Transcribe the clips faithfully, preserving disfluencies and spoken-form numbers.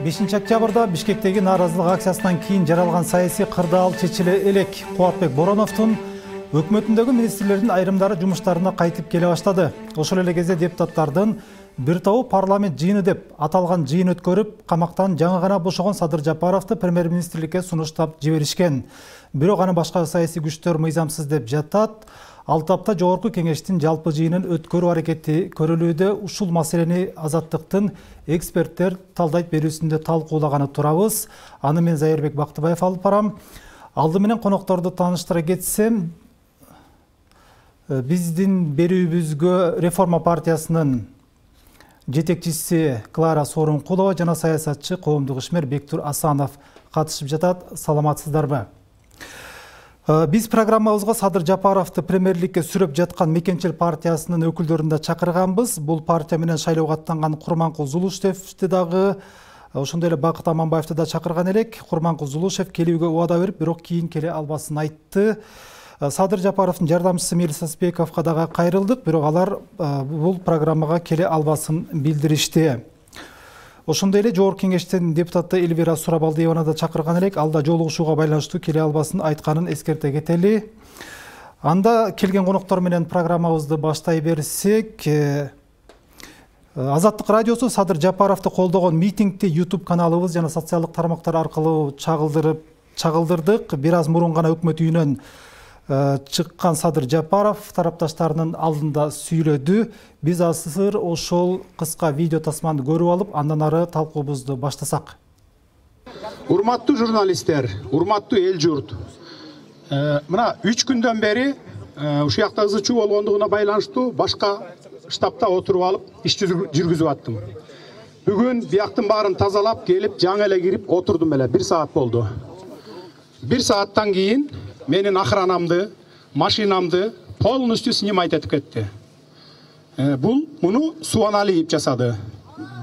бешинчи октябрда Бишкектеги нааразылык акциясынан кийин жаралган саясий кырдаал чечиле элек. Кубатбек Бороновдун өкмөтүндөгү министрлердин айрымдары жумуштарына кайтып келе баштады. Ошол эле кезде депутаттардын бир тобу парламент жыйыны деп аталган жыйын өткөрүп, камактан жаңы гана бошогон Садыр Жапаровду премьер-министрликке сунуштап жиберишкен. Бирок аны башка саясий күчтөр мыйзамсыз деп жатат. Алты апта жогорку кеңештин жалпы жыйынын өткөрүү аракети көрүлүүдө. Ушул маселени Азаттыктын эксперттер талдайт берүүсүндө талкуулаганы турабыз. Аны мен Зайырбек Бактыбаев алып барам. Алды менен конокторду тааныштыра кетсем, биздин берүүбүзгө Реформа партиясынын жетекчиси Клара Сооронкулова жана саясатчы коомдук ишмер Бектур Асанов катышып жатат. Саламатсыздарбы? Биз программабызга Садыр Жапаровду премьерликке сүрөп жаткан Мекенчил партиясынын өкүлдөрүн да чакырганбыз. Бул партия менен шайлоого аттанган Курманкул Зулушевди дагы, ошондой эле Бакыт Аманбаевди да чакырган элек. Курманкул Зулушев келүүгө убада берип, бирок кийин келе албасын айтты. Садыр Жапаровдун жардамчысы Мелис Асбековго дагы кайрылдык, бирок алар бул программага келе албасын билдиришти. Ошондой эле жогорку кеңештин депутаты Эльвира Сурабалдиеваны да чакырган элек, ал да жолугушууга байланыштуу келе албасын айтканын эскерте кетели. Анда келген коноктор менен программабызды баштай берсек, Азаттык радиосу Садыр Жапаровду колдогон митингди YouTube каналыбыз жана социалдык тармактар аркылуу чагылдырып чагылдырдык. Бир аз мурун гана өкмөт үйүнөн чыккан Садыр Жапаров тарапташтарынын алдында сүйлөдү. Биз азыр ошол кыска видео тасманы көрүп алып, андан ары талкуубузду баштасак. Урматтуу журналисттер, урматтуу эл журт. Мына үч күндөн бери ушул жакта ызы чуу болгондугуна байланыштуу башка штабта отуруп алып иш жүргүзүп аттым. Бүгүн бияктын баарын тазалап келип, жаңы эле кирип отурдум эле, бир саат болду. Бир сааттан кийин менин охранамды, машинамды полностью снимать этип кетти. Бул муну Суаналиев жасады.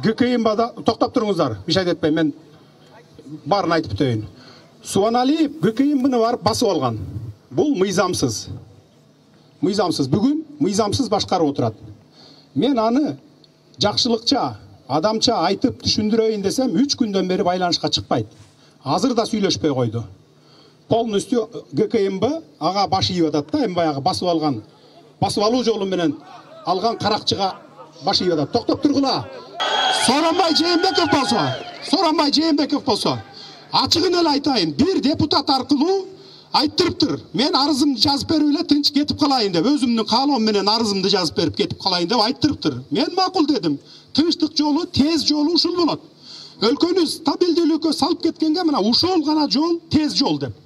ГКМБда токтоп туруңуздар, мишайт этпейм, мен баарын айтып өтөйүн. Суаналиев ГКМБны барып басып алган. Бул мыйзамсыз. Мыйзамсыз. Бүгүн мыйзамсыз башкарып отурат. Мен аны жакшылыкча, адамча айтып түшүндүрөйүн десем, үч күндөн бери байланышка чыкпайт. Азыр да сүйлөшпөй койду. Полностью ГКМБ ага баш ийип атат да, эми баягы басып алган, басып алуу жолу менен алган каракчыга баш ийип атат. Токтоп тургула. Сооронбай Жээнбеков болсо, Сооронбай Жээнбеков болсо, ачыгын эле айтайын, бир депутат аркылуу айттырыптыр. Мен арызымды жазып берип эле тынч кетип калайын деп, өзүмдүн каалоом менен арызымды жазып берип кетип калайын деп айттырыптыр. Мен макул дедим. Тынчтык жолу, тез жолу ушул болот. Өлкөнү стабилдүүлүккө салып кеткенге мына ушул гана жол, тез жол деп.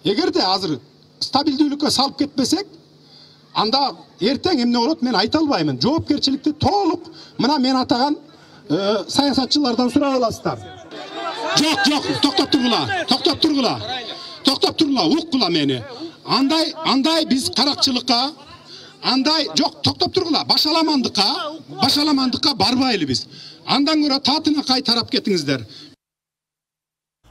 Эгерде азыр стабилдүүлүккө салып кетпесек, анда эртең эмне болот мен айта албаймын. Жоопкерчиликти толук мына мен атаган саясатчылардан сурап аласыздар. Жок, жок, токтоп тургула, токтоп тургула. Токтоп тургула, уккула мени. Андай, андай биз каракчылыкка, андай, жок, токтоп тургула, башаламандыкка, башаламандыкка барбайлы биз. Андан көрө татына кай тарап кетиңиздер.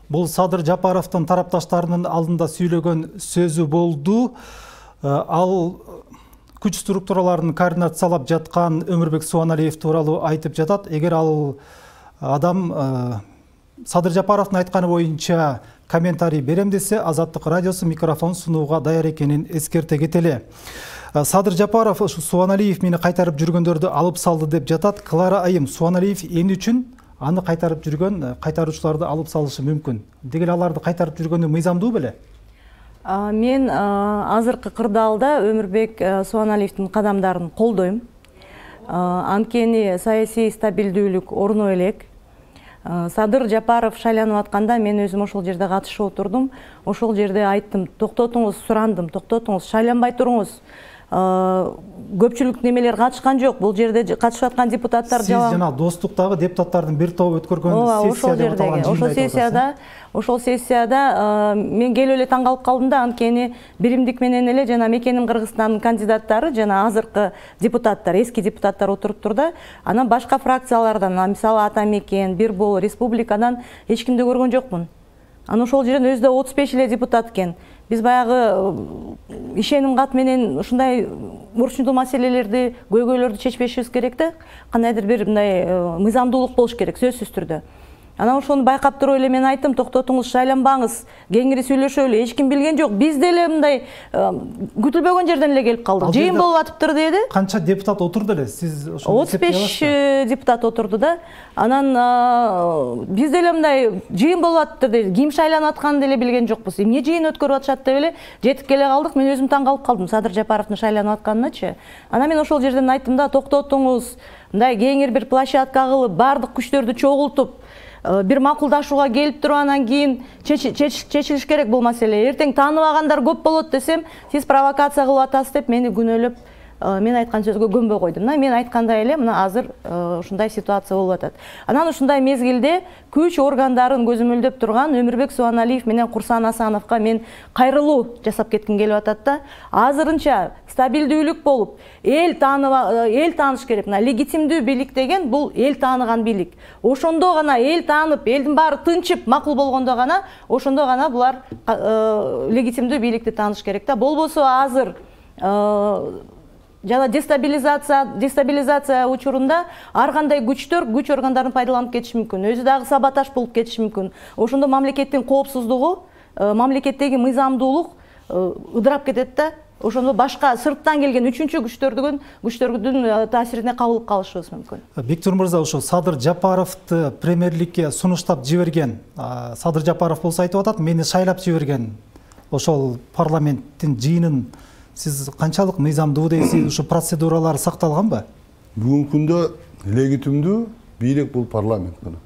Бул Садыр Жапаровдун тарапташтарынын алдында сүйлөгөн сөзү болду. Ал күч структураларын координациялап жаткан Өмүрбек Суаналиев тууралуу айтып жатат. Эгер ал адам Садыр Жапаровдун айтканы боюнча комментарий берем десе, Азаттык радиосу микрофон сунууга даяр экенин эскерте кетели. Садыр Жапаров Суаналиев мени кайтарып жүргөндөрдү алып салды деп жатат. Клара айым, Суаналиев эмне үчүн аны кайтарып жүргөн, кайтаруучуларды алып салышы мүмкүн? Дегеле аларды кайтарып жүргөнү мыйзамдуу беле? Мен азыркы кырдаалда Өмүрбек Суаналиевдин кадамдарын колдойм. Анткени саясий стабилдүүлүк орно элек. Садыр Жапаров шайланып атканда мен өзүм ошол жерде катышып отурдум. Ошол жерде айттым, токтотуңуз, сурандым, токтотуңуз, шайланбай туруңуз. Көпчүлүк немелер катышкан жок. Бул жерде катышып аткан депутаттар жана Сиз жана достуктагы депутаттардын бир тобу өткөргөн сессияда ошол сессияда, ошол сессияда мен келип эле таң калып калдым да, анткени биримдик менен эле жана Мекеним Кыргызстандын кандидаттары жана азыркы депутаттар, эски депутаттар отуруптур да. Анан башка фракциялардан, мисалы Ата Мекен, Бир Бол, Республикадан эч кимди көргөн жокмун. Анан ошол жерден өзү да отуз беш эле депутат экен. Биз баягы ишеним кат менен ушундай урчундуу маселелерди, көйгөйлөрдү чечпешибиз керек да. Кандайдыр бир мындай мыйзамдуулук болуш керек сөзсүз түрдө. Анан ошону байкап туруп эле мен айттым, токтотуңуз, шайланбаңыз, кеңири сүйлөшөлү, эч ким билген жок. Биз деле мындай күтүлбөгөн жерден эле келип калдык. Жыйын болуп атыптыр деди. Канча депутат отурду эле? Сиз ошону отуз беш депутат отурду да. Анан биз деле мындай жыйын болуп атыптыр деди. Ким шайланып атканын деле билген жокпуз. Эмне жыйын өткөрүп атышат деп эле жетип келе калдык. Мен өзүм таң калып калдым Садыр Жапаровдун шайланып атканыначы. Анан мен ошол жерден айттым да, токтотуңуз, мындай кеңир бир площадка кылып, бардык күчтөрдү чогултуп, бир макулдашууга келип туруп анан кийин чечилиш керек бул маселе. Эртең тааныбагандар көп болот десем, сиз провокация кылып атасыз деп мени күнөөлөп, мен айткан сөзгө көнбөй койдум. Мен айткандай эле мына азыр ушундай ситуация болуп атат. Анан ушундай мезгилде күч органдарын көзөмөлдөп турган Өмүрбек Субаналиев менен Курсан Асановго мен кайрылуу жасап кетким келип атат да. Азырынча стабилдүүлүк болуп, эл таанып, эл тааныш керек. Мына легитимдүү бийлик деген бул эл тааныган бийлик. Ошондо гана эл таанып, элдин баары тынчып, макул болгондо гана, ошондо гана булар легитимдүү бийликти тааныш керек да. Болбосо азыр жана дестабилизация дестабилизация учурунда ар кандай күчтөр күч органдарын пайдаланып кетиши мүмкүн. Өзү дагы саботаж болуп кетиши мүмкүн. Ошондо мамлекеттин коопсуздугу, мамлекеттеги мыйзамдуулук ыдырап кетет да. Ошондо башка сырттан келген үчүнчү күчтөрдүн күчтөрдүн таасирине кабылып калышыбыз мүмкүн. Бектур мырза, ошо Садыр Жапаровду премьерликке сунуштап жиберген, Садыр Жапаров болсо айтып атат, мени шайлап жиберген ошол парламенттин жыйынын сиз канчалык мыйзамдуу дейсиз, ушу процедуралар сакталганбы? Бүгүнкү күндө легитимдүү бийлик бул парламент гана.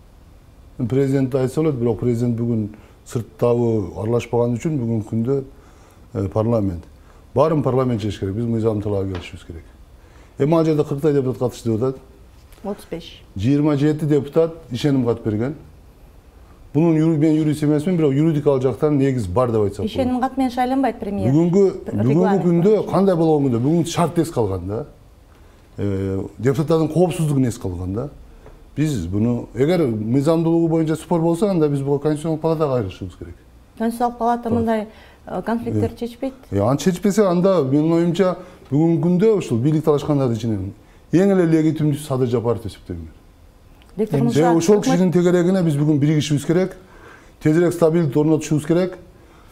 Президент айтса болот, бирок президент бүгүн сырттагы аралашпаган үчүн бүгүнкү күндө парламент. Баарын парламент чечиш керек, биз мыйзам талабы келишибиз керек. Эми ал жерде кырктай депутат катышты деп атат. отуз беш. жыйырма жети депутат ишеним кат берген. Бунун мен юрист эмесмин, бирок юридикалык жактан негиз бар деп айтсак болот. Ишеним кат менен шайланбайт премьер. Бүгүнкү бүгүнкү күндө кандай болгон күндө бүгүн шарт эс калган да. Депутаттардын коопсуздугун эс калган да. Биз буну эгер мыйзамдуулугу боюнча спор болсо, анда биз буга Конституциялык палатага кайрылышыбыз керек. Конституциялык палата мындай конфликттерди чечпейт. Аны чечпесе, анда менин оюмча бүгүнкү күндө ушул бийлик талашкандардын ичинен эң эле легитимдүүсү Садыр Жапаров деп эсептейм. Ошол кишинин тегерегине биз бүгүн биригишибиз керек. Тезирээк стабилдик орнотушубуз керек.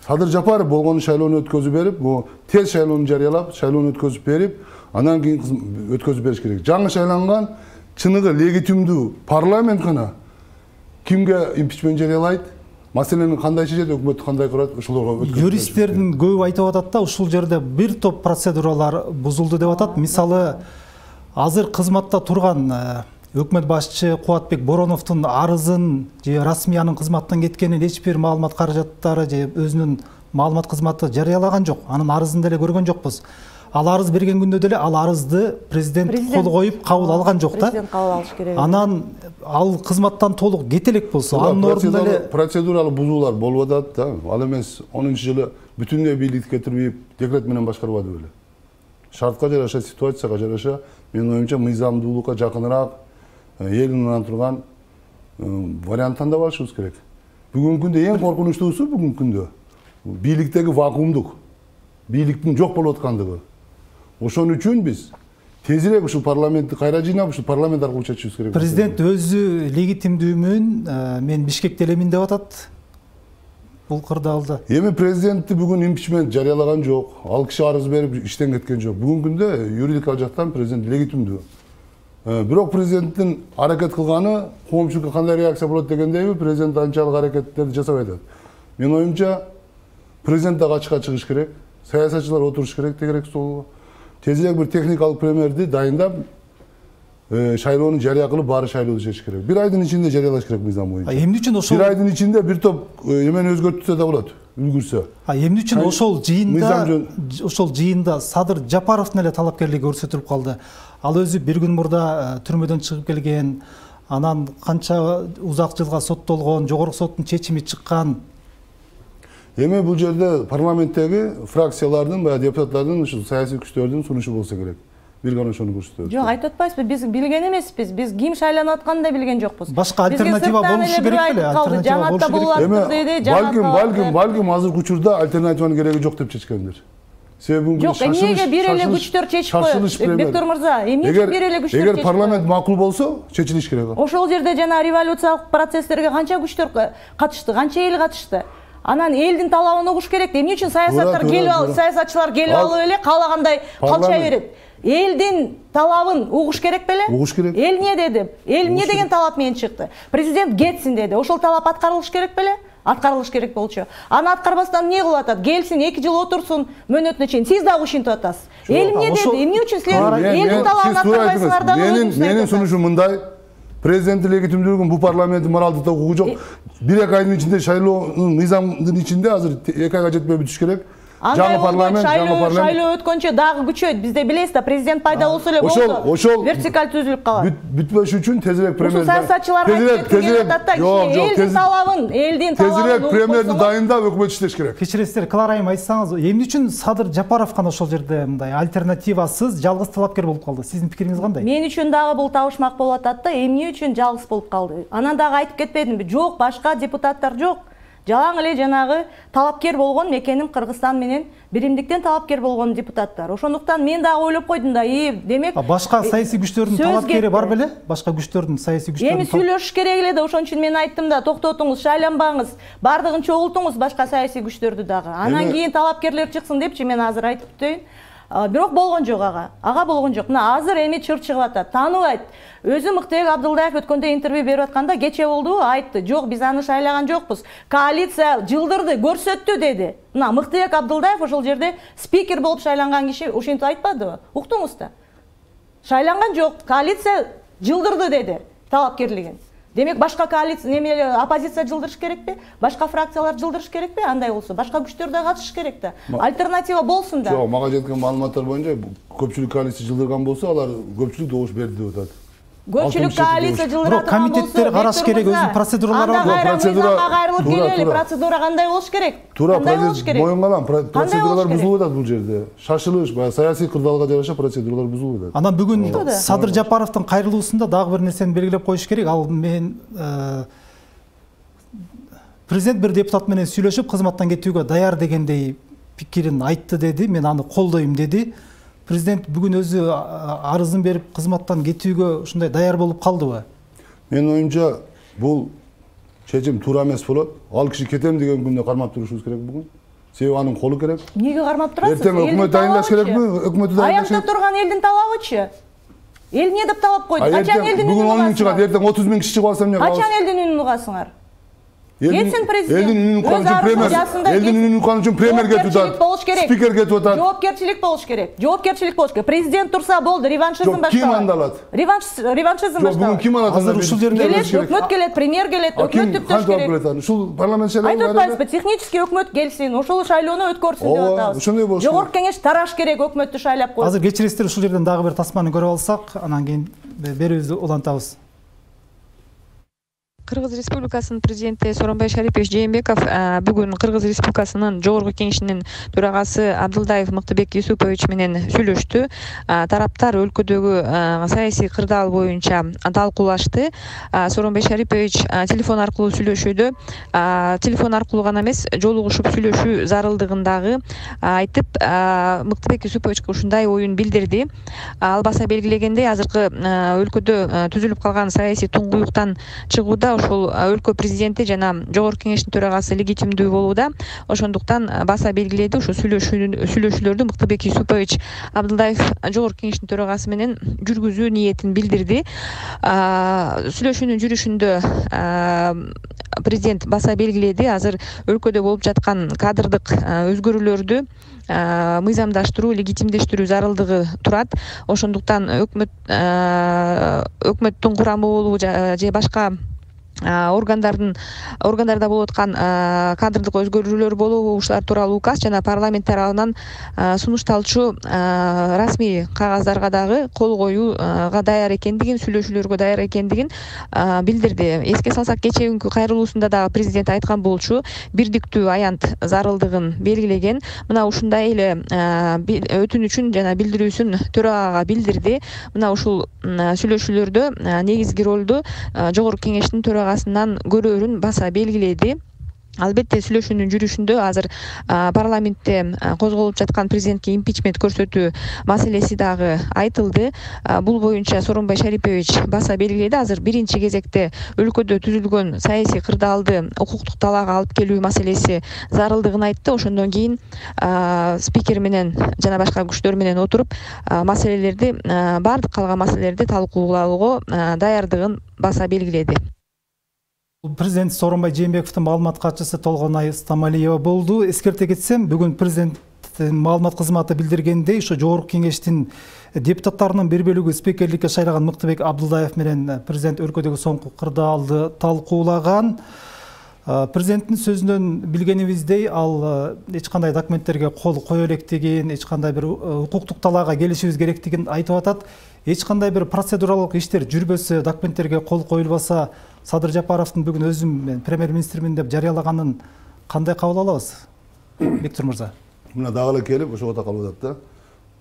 Садыр Жапаров болгону шайлоону өткөзүп берип, бу тез шайлоону жарыялап, шайлоону өткөзүп берип, анан кийин өткөзүп бериш керек. Жаңы шайланган чыныгы легитимдүү парламент гана кимге импичмент жарыялайт, маселени кандай чечет, өкмөттү кандай курат, ошолорго өткөзүп. Юристтердин көбү айтып атат да, ушул жерде бир топ процедуралар бузулду деп атат. Мисалы, азыр кызматта турган өкмөт башчы Кубатбек Бороновдун арызын же расмиянын кызматтан кеткенин эч бир маалымат каражаттары же өзүнүн маалымат кызматы жарыялаган жок. Анын арызын деле көргөн жокпуз. Ал арыз берген күндө деле ал арызды президент кол коюп кабыл алган жок да. Президент кабыл алыш керек. Анан ал кызматтан толук кете элек болсо, анын ордунда эле процедуралык бузуулар болуп атат да. Ал эмес онунчу жылы бүтүндөй бийликти кетирбей декрет менен башкарбады беле. Шартка жараша, ситуацияга жараша, менин оюмча мыйзамдуулукка жакыныраак элин анан турган вариант тандап алышыбыз керек. Бүгүнкү күндө эң коркунучтуусу бүгүнкү күндө бийликтеги вакуумдук, бийликтин жок болуп аткандыгы. Ошон үчүн биз тезирээк ушул парламентти кайра жыйнап, ушул парламент аркылуу чечишибиз керек. Президент өзү легитимдүүмүн, мен Бишкекте элемин деп атат. Бул кырдаалда. Эми президентти бүгүн импичмент жарыялаган жок. Ал киши арыз берип иштен кеткен жок. Бүгүнкү күндө юридикалык жактан президент легитимдүү. Бирок президенттин аракет кылганы коомчулукка кандай реакция болот дегендейби, президент анчалык аракеттерди жасабай атат. Менин оюмча президент дагы ачыкка чыгыш керек, саясатчылар отуруш керек тегерек столго. Тезирээк бир техникалык премьерди дайындап, шайлоону жарыя кылып, баары шайлоону чечиш керек. Бир айдын ичинде жарыялаш керек мыйзам боюнча. Эмне үчүн ошол бир айдын ичинде бир топ эмени өзгөртүлсө да болот, үлгүрсө. А эмне үчүн ошол жыйында ошол жыйында Садыр Жапаровдун эле талапкерлиги көрсөтүлүп калды? Ал өзү бир күн мурда түрмөдөн чыгып келген, анан канча узак жылга соттолгон, жогорку соттун чечими чыккан. Эми бул жерде парламенттеги фракциялардын, баягы депутаттардын, ушул саясий күчтөрдүн сунушу болсо керек. Бир гана ошону көрсөтөбүз. Жок, айтып атпайсызбы, биз билген эмеспиз. Биз ким шайланып атканын да билген жокпуз. Башка альтернатива болушу керек беле? Альтернатива болушу керек. Эми балким, балким, балким азыркы учурда альтернативанын кереги жок деп чечкендир. Жок, эмнеге бир эле күчтөр чечип коет? Бектур мырза, эмне үчүн бир эле күчтөр чечип коет? Эгер парламент макул болсо, чечилиш керек. Ошол жерде жана революциялык процесстерге канча күчтөр катышты, канча эл катышты? Анан элдин талабын угуш керек. Эмне үчүн саясаттар келип алып, саясатчылар келип алып эле каалагандай калча берет? Элдин талабын угуш керек беле? Угуш керек. Эл эмне деди? Эл эмне деген талап менен чыкты? Президент кетсин деди. Ошол талап аткарылыш керек беле? Аткарылыш керек болчу. Аны аткарбастан эмне кылып атат? Келсин, эки жыл отурсун мөөнөтүнө чейин. Сиз дагы ушинтип атасыз. Эл эмне деди? Эмне үчүн силер элдин талабын аткарбайсыңар дагы? Менин менин сунушум мындай. Президенттин легитимдүүлүгүн бул парламенттин моралдык укугу жок. бир эки айдын ичинде шайлоонун мыйзамдын ичинде азыр эки айга жетпей бүтүш керек. Жаңы парламент, жаңы парламент. Шайлоо өткөнчө дагы күчөйт. Бизде билесиз да, президент пайда болсо эле болсо. Вертикаль түзүлүп калат. Бүтпөш үчүн тезирээк премьер. Саясатчыларга кеткен атат да, элдин талабын, элдин талабын. Тезирээк премьерди дайындап өкмөт иштеш керек. Кечиресиздер, Клара айым, айтсаңыз, эмне үчүн Садыр Жапаров гана ошол жерде мындай альтернативасыз жалгыз талапкер болуп калды? Сиздин пикириңиз кандай? Мен үчүн дагы бул табышмак болуп атат да, эмне үчүн жалгыз болуп калды? Анан дагы айтып кетпедимби? Жок, башка депутаттар жок. Жалаң эле жанагы талапкер болгон Мекенин Кыргызстан менен биримдиктен талапкер болгон депутаттар. Ошондуктан мен дагы ойлоп койдум да, и демек башка саясий күчтөрдүн талапкери бар беле? Башка күчтөрдүн саясий күчтөрдүн. Эми сүйлөшүш керек эле да, ошон үчүн мен айттым да, токтотуңуз, шайланбаңыз, бардыгын чогултуңуз башка саясий күчтөрдү дагы. Анан кийин талапкерлер чыксын депчи мен азыр айтып өтөйүн. Бирок болгон жок ага. Ага болгон жок. Мына азыр эми чыр чыгып атат. Тааныбайт. Өзү Мыктыбек Абдылдаев өткөндө интервью берип атканда кече болду, айтты. Жок, биз аны шайлаган жокпуз. Коалиция жылдырды, көрсөттү деди. Мына Мыктыбек Абдылдаев ошол жерде спикер болуп шайланган киши ушинтип айтпадыбы? Уктуңуз да. Шайланган жок, коалиция жылдырды деди талапкерлигин. Демек башка коалиция, неме оппозиция жылдырыш керекпи? Башка фракциялар жылдырыш керекпи? Андай болсо, башка күчтөр да катышыш керек да. Альтернатива болсун да. Жок, мага жеткен маалыматтар боюнча көпчүлүк коалиция жылдырган болсо, алар көпчүлүк добуш берди деп атат. Көпчүлүк коалиция жылдыратат болсо, комитеттер караш керек, өзүнүн процедуралары бар. Процедура кайрылып келели, процедура кандай болуш керек? Туура, моюн калам, процедуралар бузулуп атат бул жерде. Шашылыш, баягы саясий кырдаалга жараша процедуралар бузулуп атат. Анан бүгүн Садыр Жапаровдун кайрылуусунда дагы бир нерсени белгилеп коюш керек. Ал мен президент бир депутат менен сүйлөшүп, кызматтан кетүүгө даяр дегендей пикирин айтты деди. Мен аны колдойм деди. Президент бүгүн өзү арызын берип кызматтан кетүүгө ушундай даяр болуп калдыбы? Менин оюмча бул чечим туура эмес болот. Ал киши кетем деген күндө кармап турушубуз керек бүгүн. Себеби анын колу керек. Эмнеге кармап турасыз? Эртең өкмөт дайындаш керекпи? Өкмөттү дайындаш керек. Аякта турган элдин талабычы? Эл эмне деп талап койду? Качан элдин үнүн угасыңар? Бүгүн он миң чыгат, эртең отуз миң киши чыгып алса эмне кылабыз? Качан элдин үнүн угасыңар? Кетсин президент. Элдин үнүн уккан үчүн премьер, элдин үнүн уккан үчүн премьер кетип атат. Спикер кетип атат. Жоопкерчилик болуш керек. Жоопкерчилик болуш керек. Президент турса болду, реваншизм башталат. Ким анда алат? Реванш реваншизм башталат. Бүгүн ким алат? Азыр ушул жерде өкмөт келет, премьер келет, өкмөт түптөш керек. Ушул парламент шайлоо. Айтып атпайсызбы, технический өкмөт келсин, ошол шайлоону өткөрсүн деп атабыз. Ошондой болуш. Жогорку кеңеш тараш керек, өкмөттү шайлап коюп. Азыр кечиресиздер, ушул жерден дагы бир тасманы көрүп алсак, анан кийин берүүбүздү улантабыз. Кыргыз Республикасынын президенти Сооронбай Шарипович Жээнбеков бүгүн Кыргыз Республикасынын жогорку кеңешинин төрагасы Абдылдаев Мыктыбек Юсупович менен сүйлөштү. Тараптар өлкөдөгү саясий кырдаал боюнча талкуулашты. Сооронбай Шарипович телефон аркылуу сүйлөшүүдө телефон аркылуу гана эмес, жолугушуп сүйлөшүү зарылдыгын дагы айтып, Мыктыбек Юсуповичке ушундай оюн билдирди. Ал баса белгилегендей, азыркы өлкөдө түзүлүп калган саясий туңгуюктан чыгууда ошол өлкө президенти жана жогорку кеңештин төрагасы легитимдүү болууда. Ошондуктан баса белгиледи, ушу сүйлөшүүлөрдү Мыктыбек Юсупович Абдылдаев жогорку кеңештин төрагасы менен жүргүзүү ниетин билдирди. Сүйлөшүүнүн жүрүшүндө президент баса белгиледи, азыр өлкөдө болуп жаткан кадрдык өзгөрүүлөрдү мыйзамдаштыруу, легитимдештирүү зарылдыгы турат. Ошондуктан өкмөт өкмөттүн курамы болуу же башка органдардын органдарда болуп аткан кадрдык өзгөрүүлөр болобу, ушулар тууралуу указ жана парламент тарабынан сунушталчу расмий кагаздарга дагы кол коюуга даяр экендигин, сүйлөшүүлөргө даяр экендигин билдирди. Эске салсак, кечээкүнкү кайрылуусунда дагы президент айткан болчу, бирдиктүү аянт зарылдыгын белгилеген. Мына ушундай эле өтүнүчүн жана билдирүүсүн төрагага билдирди. Мына ушул сүйлөшүүлөрдө негизги ролду жогорку кеңештин төрагасынан көрөөрүн баса белгиледи. Албетте сүйлөшүүнүн жүрүшүндө азыр парламентте козголуп жаткан президентке импичмент көрсөтүү маселеси дагы айтылды. Бул боюнча Сооронбай Шарипович баса белгиледи. Азыр биринчи кезекте өлкөдө түзүлгөн саясий кырдаалды укуктук талаага алып келүү маселеси зарылдыгын айтты. Ошондон кийин спикер менен жана башка күчтөр менен отуруп маселелерди баардык калган маселелерди талкуулоого даярдыгын баса белгиледи. Президент Сооронбай Жээнбековдун маалымат катчысы Толгонай Стамалиева болду. Эскерте кетсем, бүгүн президенттин маалымат кызматы билдиргендей, ошо жогорку кеңештин депутаттарынын бир бөлүгү спикерликке шайлаган Мыктыбек Абдылдаев менен президент өлкөдөгү соңку кырдаалды талкуулаган. Президенттин сөзүнөн билгенибиздей, ал эч кандай документтерге кол кое электигин, эч кандай бир укуктук талаага келишибиз керектигин айтып атат. Эч кандай бир процедуралык иштер жүрбөсө, документтерге кол коюлбаса, Садыр Жапаровдун бүгүн өзүм премьер-министрмин деп жарыялаганын кандай кабыл алабыз? Бектур мырза. Мына дагы эле келип ошого да калып атат да.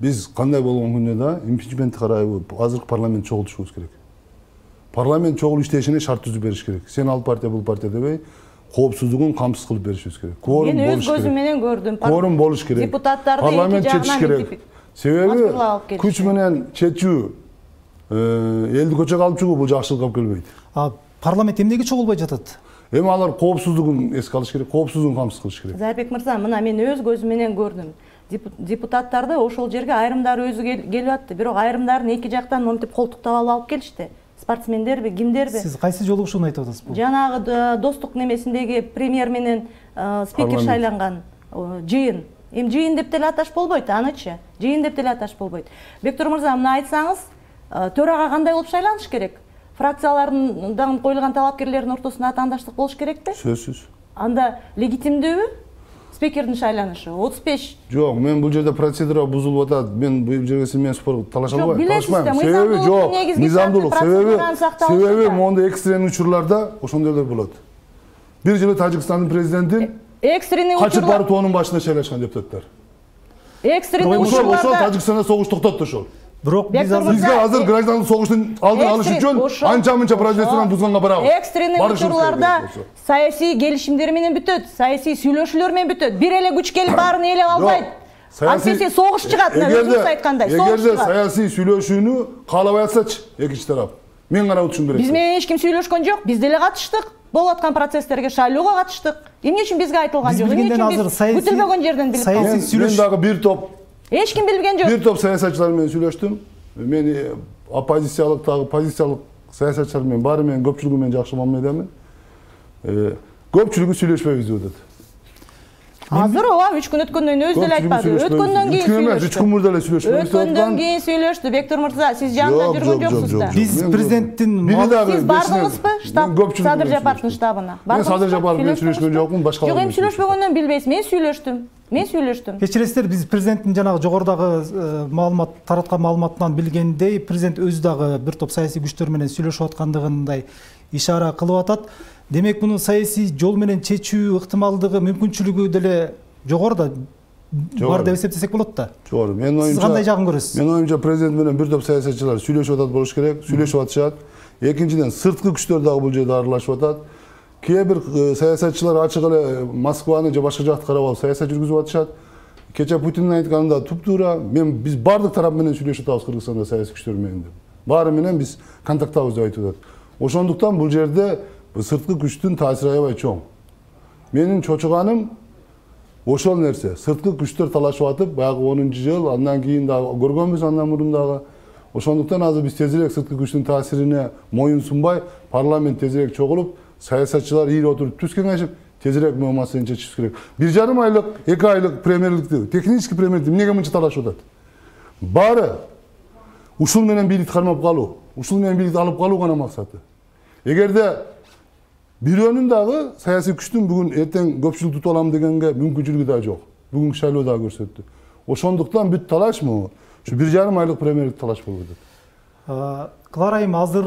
Биз кандай болгон күндө да импичментти карайбы азыркы парламент чогултушубуз керек. Парламент чогулуп иштешине шарт түзүп бериш керек. Сен ал партия, бул партия дебей, коопсуздугун камсыз кылып беришибиз керек. Кворум болуш керек. Мен өз көзүм менен көрдүм. Кворум болуш керек. Депутаттарды парламент четиш керек. Себеби күч менен четүү, элди көчөгө алып чыгуу бул жакшылыкка алып келбейт. Парламент эмнеге чогулбай жатат? Эми алар коопсуздугун эске алыш керек, коопсуздугун камсыз кылыш керек. Зайырбек мырза, мына мен өз көзүм менен көрдүм. Депутаттарды ошол жерге айрымдары өзү келип атты, бирок айрымдарын эки жактан монтип колтуктап алып келишти. Спортсмендерби, кимдерби? Сиз кайсы жолугушууну айтып атасыз бул? Жанагы достук немесиндеги премьер менен спикер шайланган жыйын. Эми жыйын деп деле аташ болбойт, анычы. Жыйын деп деле аташ болбойт. Бектур мырза, мына айтсаңыз, төрага кандай болуп шайланыш керек? Фракциялардан коюлган талапкерлердин ортосунда атаандаштык болуш керекпи? Сөзсүз. Анда легитимдүүбү спикердин шайланышы? отуз беш. Жок, мен бул жерде процедура бузулуп атат. Мен бул жерге сиз менен спор талаша албайм. Талашпайм. Себеби жок, мыйзамдуулук. Себеби себеби моундай экстренный учурларда ошондойлор болот. Бир жылы Тажикстандын президентин экстренный учурлар качып барып тоонун башына шайлашкан депутаттар. Экстренный учурларда ошол Тажикстанда согуш токтотту ошол. Бирок биз бизге азыр граждандык согуштун алдын алыш үчүн анча-мынча процедураны бузганга барабыз. Экстренный учурларда саясий келишимдер менен бүтөт, саясий сүйлөшүүлөр менен бүтөт. Бир эле күч келип баарын ээлеп албайт. Антиси согуш чыгат, өзүңүз айткандай, согуш чыгат. Эгерде саясий сүйлөшүүнү каалабай атсачы экинчи тарап, мен гана утушум керек. Биз менен эч ким сүйлөшкөн жок, биз деле катыштык. Болуп аткан процесстерге шайлоого катыштык. Эмне үчүн бизге айтылган жок? Эмне үчүн биз бүтүлбөгөн жерден билип калдык? Мен дагы бир топ эч ким билген жок. Бир топ саясатчылар менен сүйлөштүм. Мен оппозициялык дагы позициялык саясатчылар менен баары менен көпчүлүгү менен жакшы мамиледемин. Көпчүлүгү сүйлөшпөйбүз деп атат. Азыр ооба үч күн өткөндөн кийин өзү деле айтпады. Өткөндөн кийин сүйлөштү. үч күн мурда эле сүйлөшпөйбүз. Өткөндөн кийин сүйлөштү. Бектур мырза, сиз жанында жүргөн жоксуз да. Биз президенттин сиз бардыңызбы штаб Садыр Жапаровдун штабына? Мен Садыр Жапаров менен сүйлөшкөн жокмун, башка. Жок, эми сүйлөшпөгөндөн билбейсиз. Мен сүйлөштүм. Мен сүйлөштүм. Кечиресиздер, биз президенттин жанагы жогорудагы маалымат тараткан маалыматтан билгендей, президент өзү дагы бир топ саясий күчтөр менен сүйлөшүп аткандыгындай ишара кылып атат. Демек, муну саясий жол менен чечүү ыктымалдыгы, мүмкүнчүлүгү деле жогору да бар деп эсептесек болот да. Жогору. Мен оюмча, сиз кандай жагын көрөсүз? Мен оюмча президент менен бир топ саясатчылар сүйлөшүп атат болуш керек, сүйлөшүп атышат. Экинчиден, сырткы күчтөр дагы бул жерде аралашып атат. Кээ бир саясатчылар ачык эле Москваны же башка жакты карап алып саясат жүргүзүп атышат. Кече Путиндин айтканында туп-туура, мен биз бардык тарап менен сүйлөшүп атабыз Кыргызстанда саясий күчтөр менен деп. Баары менен биз контакттабыз деп айтып атат. Ошондуктан бул жерде сырткы күчтүн таасири аябай чоң. Менин чочуганым ошол нерсе. Сырткы күчтөр талашып атып, баягы онунчу жыл, андан кийин дагы көргөнбүз, андан мурун дагы. Ошондуктан азыр биз тезирээк сырткы күчтүн таасирине моюн сунбай, парламент тезирээк чогулуп, саясатчылар ийри отуруп түз кеңешип, тезирээк бул маселени чечишибиз керек. Бир жарым айлык, эки айлык премьерликти, технический премьерликти эмнеге мынча талашып атат? Баары ушул менен бийликти кармап калуу, ушул менен бийликти алып калуу гана максаты. Эгерде бирөөнүн дагы саясий күчтүн бүгүн эртең көпчүлүк тутуп алам дегенге мүмкүнчүлүгү да жок. Бүгүнкү шайлоо дагы көрсөттү. Ошондуктан бүт талаш могу ушу бир жарым айлык премьерлик талаш болуп атат. Клара айым, азыр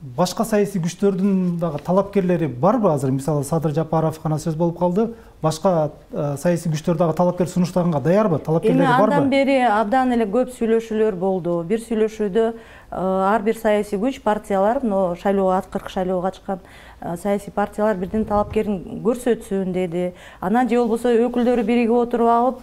башка саясий күчтөрдүн дагы талапкерлери барбы азыр? Мисалы Садыр Жапаров гана сөз болуп калды. Башка саясий күчтөр дагы талапкер сунуштаганга даярбы? Талапкерлери барбы? Андан бери абдан эле көп сүйлөшүүлөр болду. Бир сүйлөшүүдө ар бир саясий күч, партиялар, но шайлоого акыркы шайлоого катышкан саясий партиялар бирден талапкерин көрсөтсүн деди. Анан же болбосо өкүлдөрү биригип отуруп алып,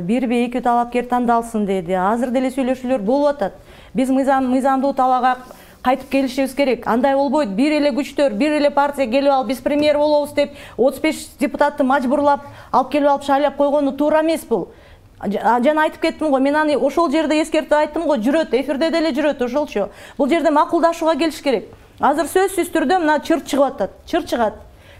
бирби эки талапкер тандалсын деди. Азыр деле сүйлөшүүлөр болуп атат. Биз мыйзам мыйзамдуу талаага кайтып келишибиз керек. Андай болбойт. Бир эле күчтөр, бир эле партия келип алып, биз премьер болобуз деп отуз беш депутатты мажбурлап алып келип алып шайлап койгону туура эмес бул. Жана айтып кеттим го, мен аны ошол жерде эскертип айттым го, жүрөт, эфирде деле жүрөт ошолчу. Бул жерде макулдашууга келиш керек. Азыр сөзсүз түрдө мына чырт чыгып атат, чырт чыгат.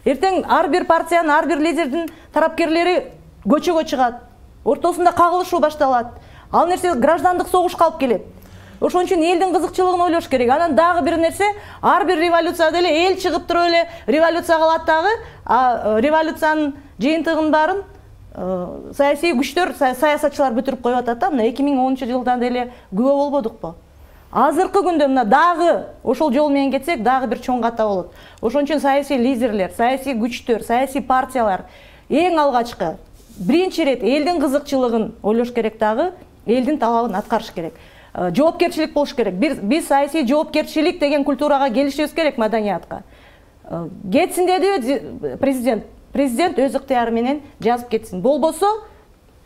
Эртең ар бир партиянын, ар бир лидердин тарапкерлери көчөгө чыгат. Ортосунда кагылышуу башталат. Ал нерсе граждандык согушка алып келет. Ошон үчүн элдин кызыкчылыгын ойлош керек. Анан дагы бир нерсе, ар бир революцияда эле эл чыгып туруп эле революция кылат дагы, а революциянын жыйынтыгын баарын саясий күчтөр, саясатчылар бүтүрүп коюп атат да. Мына эки миң онунчу жылдан деле күбө болбодукпу? Азыркы күндө мына дагы ошол жол менен кетсек, дагы бир чоң ката болот. Ошон үчүн саясий лидерлер, саясий күчтөр, саясий партиялар эң алгачкы биринчи ирет элдин кызыкчылыгын ойлош керек дагы, элдин талабын аткарыш керек. Жоопкерчилик болуш керек. Биз саясий жоопкерчилик деген культурага келишибиз керек, маданиятка. Кетсин деди президент. Президент өз ыктыяры менен жазып кетсин. Болбосо,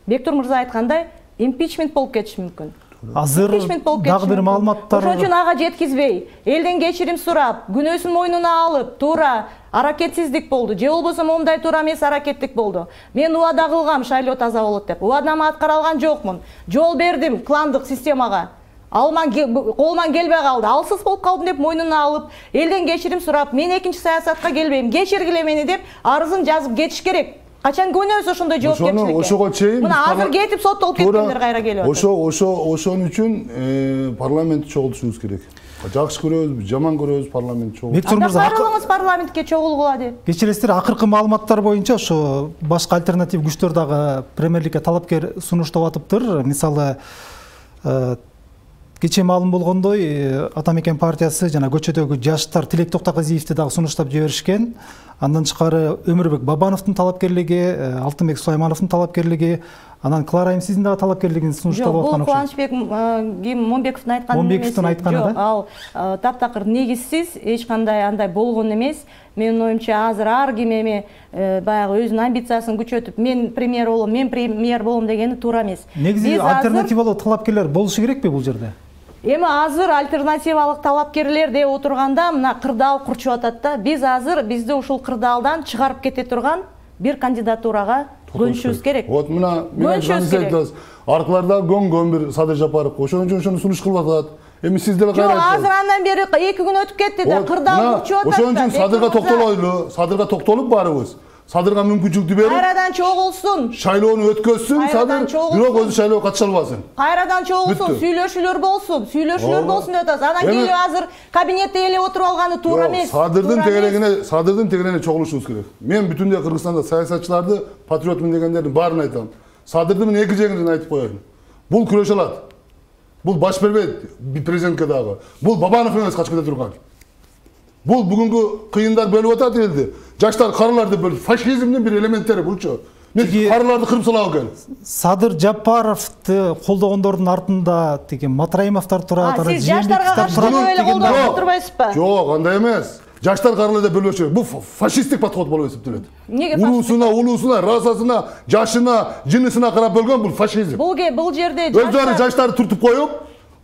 Бектур мырза айткандай, импичмент болуп кетиши мүмкүн. Азыр дагы бир маалыматтар. Ошон үчүн ага жеткизбей, элден кечирим сурап, күнөөсүн мойнуна алып, туура аракетсиздик болду. Же болбосо момундай туура эмес аракеттик болду. Мен убада кылгам шайлоо таза болот деп. Убадамды аткара алган жокмун. Жол бердим кландык системага. Алман колман келбей калды. Алсыз болуп калдым деп мойнуна алып, элден кечирим сурап, мен экинчи саясатка келбейм, кечиргиле мени деп арызын жазып кетиш керек. Качан көнөбүз ошондой жоопкерчиликке? Ошого чейин мына азыр кетип соттолуп кеткендер кайра келип атат. Ошо ошо ошон үчүн парламентти чогултушубуз керек. Жакшы көрөбүз, жаман көрөбүз, парламентти чогултуп. Бектур мырза, баарыбыз парламентке чогулгула деп. Кечиресиздер, акыркы маалыматтар боюнча ошо башка альтернатив күчтөр дагы премьерликке талапкер сунуштап атыптыр. Мисалы, кечээ маалым болгондой, Ата Мекен партиясы жана көчөдөгү жаштар Тилек Токтогазиевди дагы сунуштап жиберишкен. Андан тышкары Өмүрбек Бабановдун талапкерлиги, Алтынбек Сулаймановдун талапкерлиги, анан Клара Эмсиздин дагы талапкерлигин сунуштап аткан окшойт. Бул Кубанычбек Момбековдун айтканы эмес. Момбековдун айтканы да? Ал таптакыр негизсиз, эч кандай андай болгон эмес. Менин оюмча азыр ар ким эми баягы өзүнүн амбициясын күчөтүп, мен премьер болом, мен премьер болом дегени туура эмес. Негизи альтернативалуу талапкерлер болушу керекпи бул жерде? Эми азыр альтернативалык талапкерлер деп отурганда мына кырдаал курчуп атат да. Биз азыр бизди ушул кырдаалдан чыгарып кете турган бир кандидатурага көнүшүбүз керек. Вот мына мен айтасыз, аркыларда көнгөн бир Садыр Жапаров ошон үчүн ошону сунуш кылып атат. Эми сиз деле кайра айттыңыз. Жок, азыр андан бери эки күн өтүп кетти да, кырдаал курчуп атат. Ошон үчүн Садырга токтолойлу, Садырга токтолуп баарыбыз. Садырга мүмкүнчүлүктү берип, кайрадан чогулсун. Шайлоону өткөзсүн, Садыр бирок өзү шайлоого катыша албасын. Кайрадан чогулсун, сүйлөшүүлөр болсун, сүйлөшүүлөр болсун деп атасыз. Анан келип азыр кабинетте эле отуруп алганы туура эмес. Садырдын тегерегине, Садырдын тегерене чогулушубуз керек. Мен бүтүндөй Кыргызстанда саясатчыларды, патриотмун дегендердин баарын айтам. Садырдын мен эки жеңинен айтып коеюн. Бул күрөшө алат. Бул баш бербейт президентке дагы. Бул Бабанов эмес качып кете турган. Бул бүгүнкү кыйындар бөлүп атат элди. Жаштар карыларды бөлүп, фашизмдин бир элементтери булчу. Мен карыларды кырып салабы экен. Садыр Жапаровду колдогондордун артында тиги Матраимовдор турат, ана жаштарга каршы колдоп турбайсызбы? Жок, андай эмес. Жаштар карылы деп бөлбөчү. Бул фашисттик подход болуп эсептелет. Улуусуна, улуусуна, расасына, жашына, жынысына карап бөлгөн бул фашизм. Бул бул жерде өздөрү жаштарды туртуп коюп,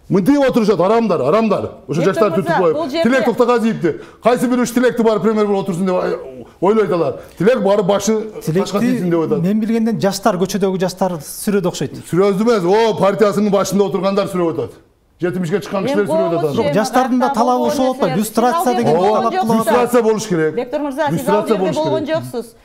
мынтип отурушат, арамдар, арамдар. Ошо жаштарды туртуп коюп, Тилек Токтогазиевди, кайсы бир үч Тилекти барып премьер болуп отурсун деп ойлойт алар. Тилек барып башы башка тийсин деп атат. Мен билгенден жаштар, көчөдөгү жаштар сүрөдө окшойт. Сүрөдө эмес, о партиясынын башында отургандар сүрөп атат. жетимишке чыккан кишилер сүрөп атат. Жок, жаштардын да талабы ошол болот. Люстрация деген талап кылат. Люстрация болуш керек. Бектур мырза, сиз ал жерде болгон жоксуз.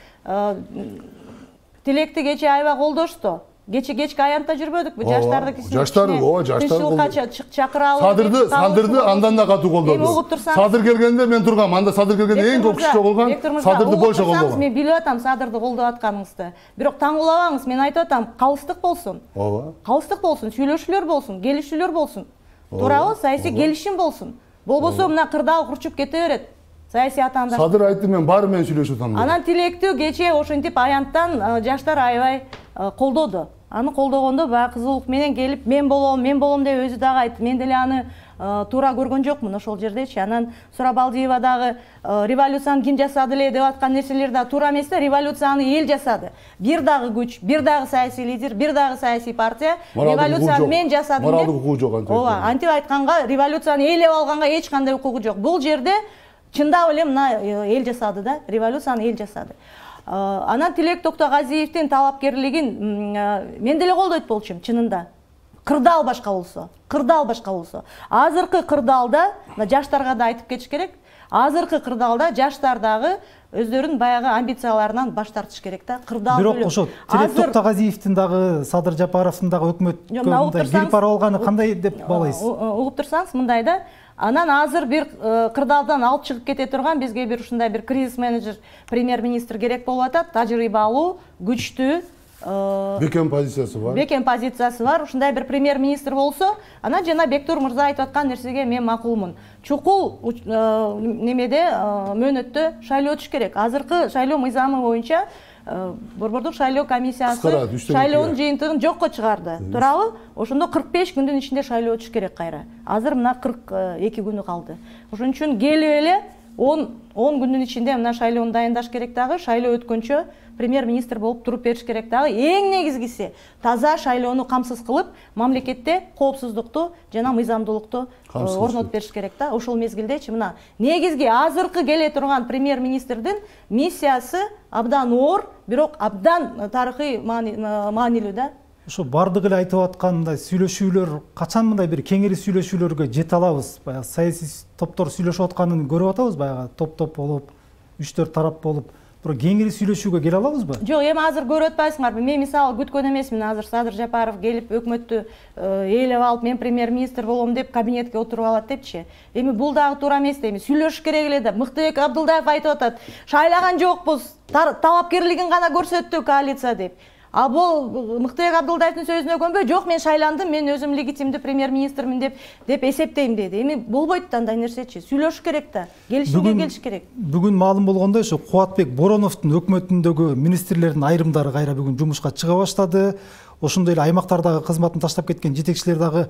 Тилекти кечээ аябай колдошту. Кече кечки аянтта жүрбөдүкпү? Жаштарды кичине. Жаштар, ооба, жаштар колдошту. Чакырабыз. Садырды, Садырды андан да катуу колдоду. Садыр келгенде мен тургам. Анда Садыр келгенде эң көп киши чогулган. Садырды болчо колдогон. Мен билип атам Садырды колдоп атканыңызды. Бирок таңгуулабаңыз, мен айтып атам, калыстык болсун. Ооба. Калыстык болсун, сүйлөшүүлөр болсун, келишүүлөр болсун. Туурабы? Саясий келишим болсун. Болбосо мына кырдаал курчуп кете берет. Саясий атаандаш. Садыр айтты, мен баары менен сүйлөшүп атам. Анан тилектүү кечээ ошентип аянттан жаштар аябай колдоду. Аны колдогондо баягы кызуулук менен келип, мен болом, мен болом деп өзү дагы айтты. Мен деле аны туура көргөн жокмун ошол жердечи. Анан Сурабалдиева дагы революцияны ким жасады эле деп аткан нерселер да туура эмес да, революцияны эл жасады. Бир дагы күч, бир дагы саясий лидер, бир дагы саясий партия революцияны мен жасадым деп. Моралдык укугу жок антип. Ооба, антип айтканга, революцияны эл алганга эч кандай укугу жок. Бул жерде чындап эле мына эл жасады да, революцияны эл жасады. Анан Тилек Токтогазиевдин талапкерлигин мен деле колдойт болчумун чынында. Кырдаал башка болсо, кырдаал башка болсо. Азыркы кырдаалда жаштарга да айтып кетиш керек. Азыркы кырдаалда жаштар дагы өздөрүнүн баягы амбицияларынан баш тартыш керек да. Кырдаал бирок ошо Тилек Токтогазиевдин дагы, Садыр Жапаровдун дагы өкмөткө мындай кирип барып алганы кандай деп балайсыз? Угуп турсаңыз мындай да. Анан азыр бир кырдаалдан алып чыгып кете турган бизге бир ушундай бир кризис менеджер, премьер-министр керек болуп атат. Тажрыйбалуу, күчтүү, бекем позициясы бар. Бекем позициясы бар. Ушундай бир премьер-министр болсо, анан жана Бектур мырза айтып аткан нерсеге мен макулмун. Чукул немеде мөөнөттө шайлоо өтүш керек. Азыркы шайлоо мыйзамы боюнча Борбордук шайлоо комиссиясы шайлоонун жыйынтыгын жокко чыгарды. Туурабы? Ошондо кырк беш күндүн ичинде шайлоо өтүш керек кайра. Азыр мына кырк эки күнү калды. Ошон үчүн келип эле он күндүн ичинде мына шайлоону дайындаш керек дагы, шайлоо өткөнчө премьер-министр болуп туруп бериш керек дагы. Эң негизгиси таза шайлоону камсыз кылып, мамлекетте коопсуздукту жана мыйзамдуулукту орнотуп бериш керек да. Ошол мезгилдечи мына негизги азыркы келе турган премьер-министрдин миссиясы абдан оор, бирок абдан тарыхый маанилүү да. Ошо бардыгы эле айтып аткан мындай сүйлөшүүлөр качан мындай бир кеңири сүйлөшүүлөргө жете алабыз? Баягы саясий топтор сүйлөшүп атканын көрүп атабыз, баягы топ-топ болуп, үч төрт тарап болуп, бирок кеңири сүйлөшүүгө келе алабызбы? Жок, эми азыр көрүп атпайсыңарбы? Мен мисалы күткөн эмесмин. Азыр Садыр Жапаров келип өкмөттү ээлеп алып, мен премьер-министр болом деп кабинетке отуруп алат депчи. Эми бул дагы туура эмес да. Эми сүйлөшүш керек эле да. Мыктыбек Абдылдаев айтып атат, шайлаган жокпуз, талапкерлигин гана көрсөттү коалиция деп. А бул Мыктыбек Абдылдаевдин сөзүнө көнбөй, жок мен шайландым, мен өзүм легитимдүү премьер-министрмин деп деп эсептейм деди. Эми болбойт да андай нерсечи. Сүйлөшүш керек да. Келишимге келиш керек. Бүгүн маалым болгондой, ошо Кубатбек Бороновдун өкмөтүндөгү министрлердин айрымдары кайра бүгүн жумушка чыга баштады. Ошондой эле аймактардагы кызматын таштап кеткен жетекчилер дагы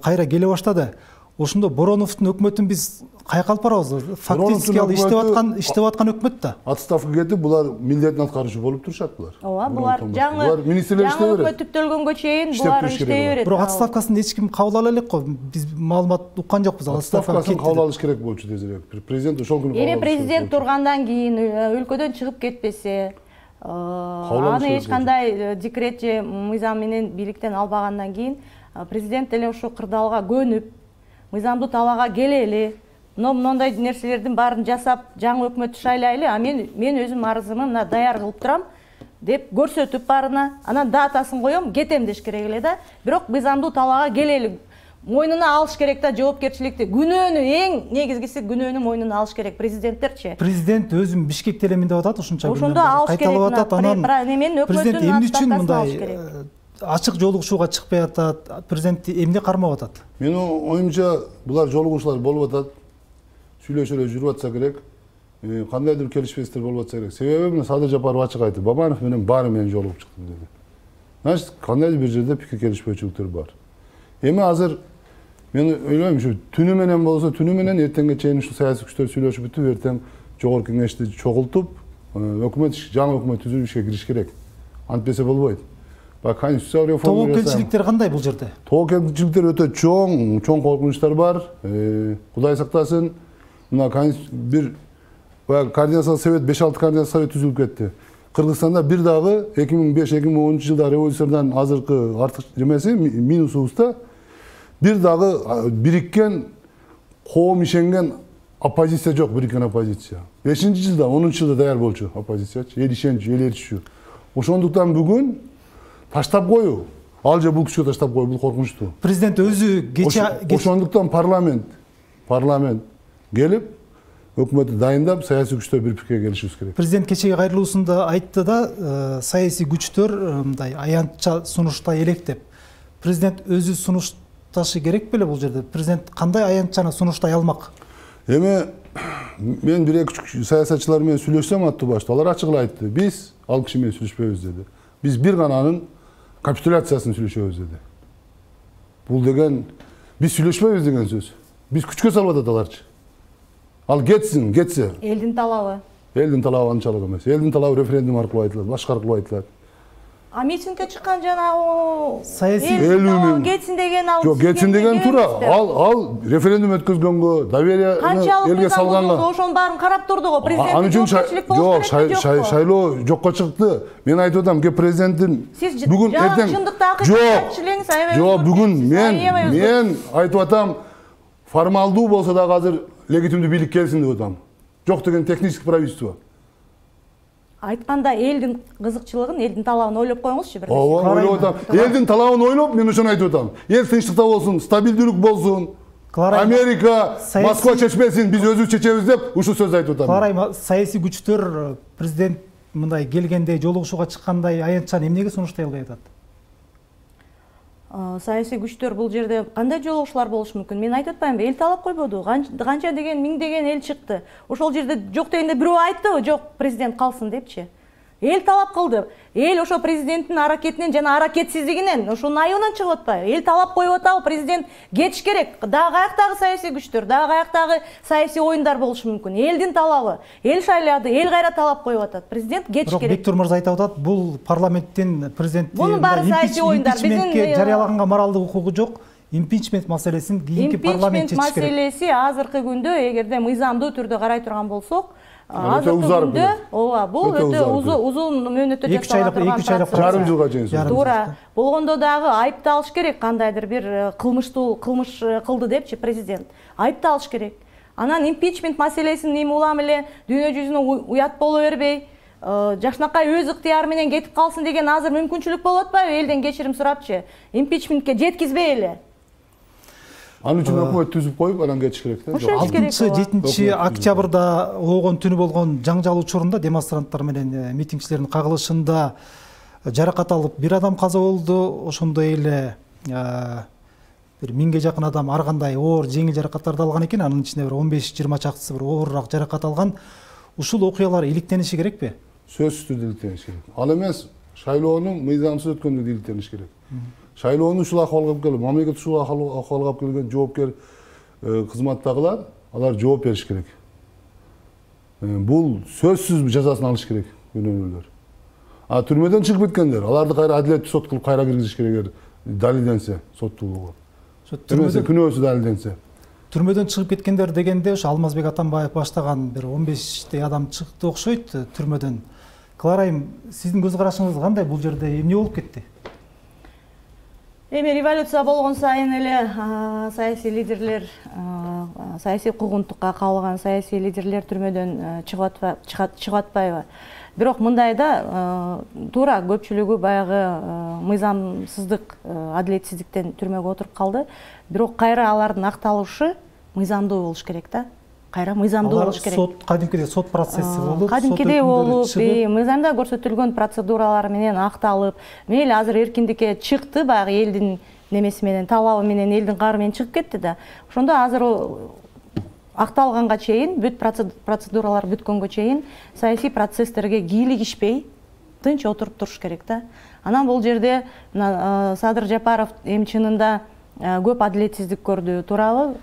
кайра келе баштады. Ошондо Бороновдун өкмөтүн биз каяка алып барабыз? Фактически ал иштеп аткан, иштеп аткан өкмөт да. Отставка кетип, булар милдетин аткаруучу болуп турушат булар. Ооба, булар жаңы жаңы өкмөт түптөлгөнгө чейин булар иштей берет. Бирок отставкасын эч ким кабыл ала элек го. Биз маалымат уккан жокпуз. Отставкасын кабыл алыш керек болчу тезирээк. Президент ошол күнү. Эми президент тургандан кийин өлкөдөн чыгып кетпесе, аны эч кандай декрет же мыйзам менен бийликтен албагандан кийин президент деле ошо кырдаалга көнүп, мыйзамдуу талаага келели, мондой нерселердин баарын жасап, жаңы өкмөттү шайлайлы, а мен мен өзүм арызымы мына даяр кылып турам деп көрсөтүп барына, анан датасын коем, кетем деш керек эле да. Бирок мыйзамдуу талаага келели, мойнуна алыш керек да жоопкерчиликти. Күнөөнү эң негизгиси күнөөнү мойнуна алыш керек президенттерчи. Президент өзүм Бишкекте элемин деп атат, ошончо ошондо алыш керек. Анан президент эмне үчүн мындай ачык жолугушууга чыкпай атат? Президент эмне кармап атат? Менин оюмча булар жолугушуулар болуп атат. Сүйлөшүп эле жүрүп атса керек. Кандайдыр келишпестер болуп атса керек. Себеби мына Садыр Жапаров ачык айтты. Бабанов менен баары менен жолугуп чыктым деди. Значит, кандайдыр бир жерде пикир келишпөөчүлүктөр бар. Эми азыр мен ойлойм, ушу түнү менен болсо, түнү менен эртеңге чейин ушу саясий күчтөр сүйлөшүп бүтүп, эртең жогорку кеңешти чогултуп, өкмөт жаңы өкмөт түзүү ишке кириш керек. Антпесе болбойт. Конституциялык реформа. Тобокелчиликтер кандай бул жерде? Тобокелчиликтер өтө чоң, чоң коркунучтар бар. Кудай сактасын. Мына бир координациялык совет, беш алты координациялык совет түзүлүп кетти. Кыргызстанда бир дагы эки миң беш эки миң онунчу жылда революциядан азыркы артык жемеси минусубузда бир дагы бириккен, коом ишенген оппозиция жок, бириккен оппозиция. бешинчи жылда, онунчу жылда даяр болчу оппозициячы, эл ишенчү, эл эрчүчү. Ошондуктан бүгүн таштап коюу, ал же бул күчкө таштап коюу, бул коркунучтуу. Президент өзү кече ошондуктан парламент парламент келип өкмөттү дайындап, саясий күчтөр бир пикирге келишибиз керек. Президент кечеги кайрылуусунда айтты да, саясий күчтөр мындай аянтча сунушта элек деп. Президент өзү сунуш сунушташы керек беле бул жерде? Президент кандай аянтчаны сунуштай алмак? Эми мен бир эки саясатчылар менен сүйлөшсөм аттуу башта, алар ачык эле айтты. Биз ал киши менен сүйлөшпөйбүз деди. Биз бир гана анын капитуляциясын сүйлөшөбүз деди. Бул деген биз сүйлөшпөйбүз деген сөз. Биз күчкө салып атат аларчы. Ал кетсин, кетсе. Элдин талабы. Элдин талабы анчалык эмес. Элдин талабы референдум аркылуу айтылат, башка аркылуу айтылат. А митингге чыккан жана саясий элүү миң кетсин деген ал. Жок, кетсин деген туура. Ал ал референдум өткөзгөнгө, доверияны элге салганга. Ошонун баарын карап турду го президент. Ал үчүн жок, шайлоо жокко чыкты. Мен айтып атам, ке президенттин бүгүн эртең жок. Жок, бүгүн мен мен айтып атам, формалдуу болсо дагы азыр легитимдүү бийлик келсин деп атам. Жок деген технический правительство. Айтканда элдин кызыкчылыгын, элдин талабын ойлоп коюңузчу бир. Ооба, ойлоп атам. Элдин талабын ойлоп, мен ошону айтып атам. Эл тынчтыкта болсун, стабилдүүлүк болсун. Америка, Москва чечпесин, биз өзүбүз чечебиз деп ушул сөздү айтып атам. Карайм, саясий күчтөр президент мындай келгенде, жолугушууга чыккандай аянтчаны эмнеге сунуштай албай атат? Саясий күчтөр бул жерде кандай жолугушуулар болушу мүмкүн? Мен айтып атпаймынбы, эл талап койбоду. Канча деген, миң деген эл чыкты. Ошол жерде жок дегенде бирөө айттыбы, жок, президент калсын депчи. Эл талап кылды. Эл ошо президенттин аракетинен жана аракетсиздигинен, ошонун айыбынан чыгып атпайбы? Эл талап коюп атабы, президент кетиш керек. Дагы каяктагы саясий күчтөр, дагы каяктагы саясий оюндар болушу мүмкүн. Элдин талабы, эл шайлады, эл кайра талап коюп атат. Президент кетиш керек. Бектур мырза айтып атат, бул парламенттин президенти мунун баары саясий оюндар. Биздин жарыялаганга моралдык укугу жок. Импичмент маселесин кийинки парламент чечиш керек. Импичмент маселеси азыркы күндө эгерде мыйзамдуу түрдө карай турган болсок, азыркы күндө ооба, бул өтө узун мөөнөттө жасалган процесс. Жарым жылга чейин. Туура. Болгондо дагы айыпталыш керек, кандайдыр бир кылмыштуу кылмыш кылды депчи президент. Айыпталыш керек. Анан импичмент маселесин эми улам эле дүйнө жүзүнө уят боло бербей, жакшынакай өз ыктыяры менен кетип калсын деген азыр мүмкүнчүлүк болуп атпайбы? Элден кечирим сурапчы. Импичментке жеткизбей эле. Анын үчүн өкмөт түзүп коюп, анан кетиш керек да. алтынчы жетинчи октябрда болгон түнү болгон жаңжал учурунда демонстранттар менен митингчилердин кагылышында жаракат алып бир адам каза болду. Ошондой эле бир миңге жакын адам ар кандай оор жеңил жаракаттарды алган экен. Анын ичинде бир он беш жыйырма чактысы бир оорураак жаракат алган. Ушул окуялар иликтениши керекпи? Сөзсүз түрдө иликтениш керек. Ал эмес, шайлоонун мыйзамсыз өткөндүгү иликтениш керек. Шайлоону ушул акыбалга алып келип, мамлекет ушул акыбалга алып келген жоопкер кызматтагылар, алар жооп бериш керек. Бул сөзсүз жазасын алыш керек күнөөлөр. А түрмөдөн чыгып кеткендер, аларды кайра адилеттүү сот кылып кайра киргизиш керек эгер далилденсе, соттуулугу. Түрмөдө күнөөсү далилденсе. Түрмөдөн чыгып кеткендер дегенде ошо Алмазбек Атамбаев баштаган бир он бештей адам чыкты окшойт түрмөдөн. Кларайым, сиздин көз карашыңыз кандай бул жерде эмне болуп кетти? Эми революция болгон сайын эле саясий лидерлер, саясий куугунтукка кабылган саясий лидерлер түрмөдөн чыгып атпайбы? Бирок мындайда туура көпчүлүгү баягы мыйзамсыздык, адилетсиздиктен түрмөгө отуруп калды. Бирок кайра алардын акталышы мыйзамдуу болуш керек да. Кайра мыйзамдуу болуш керек. Сот, кадимкидей сот процесси болуп, кадимкидей болуп, мыйзамда көрсөтүлгөн процедуралар менен акталып, мейли азыр эркиндикке чыкты, баягы элдин немеси менен, талабы менен, элдин каары менен чыгып кетти да. Ошондо азыр акталганга чейин, бүт процедуралар бүткөнгө чейин саясий процесстерге кийлигишпей, тынч отуруп туруш керек да. Анан бул жерде Садыр Жапаров эми чынында көп адилетсиздик көрдү, туурабы?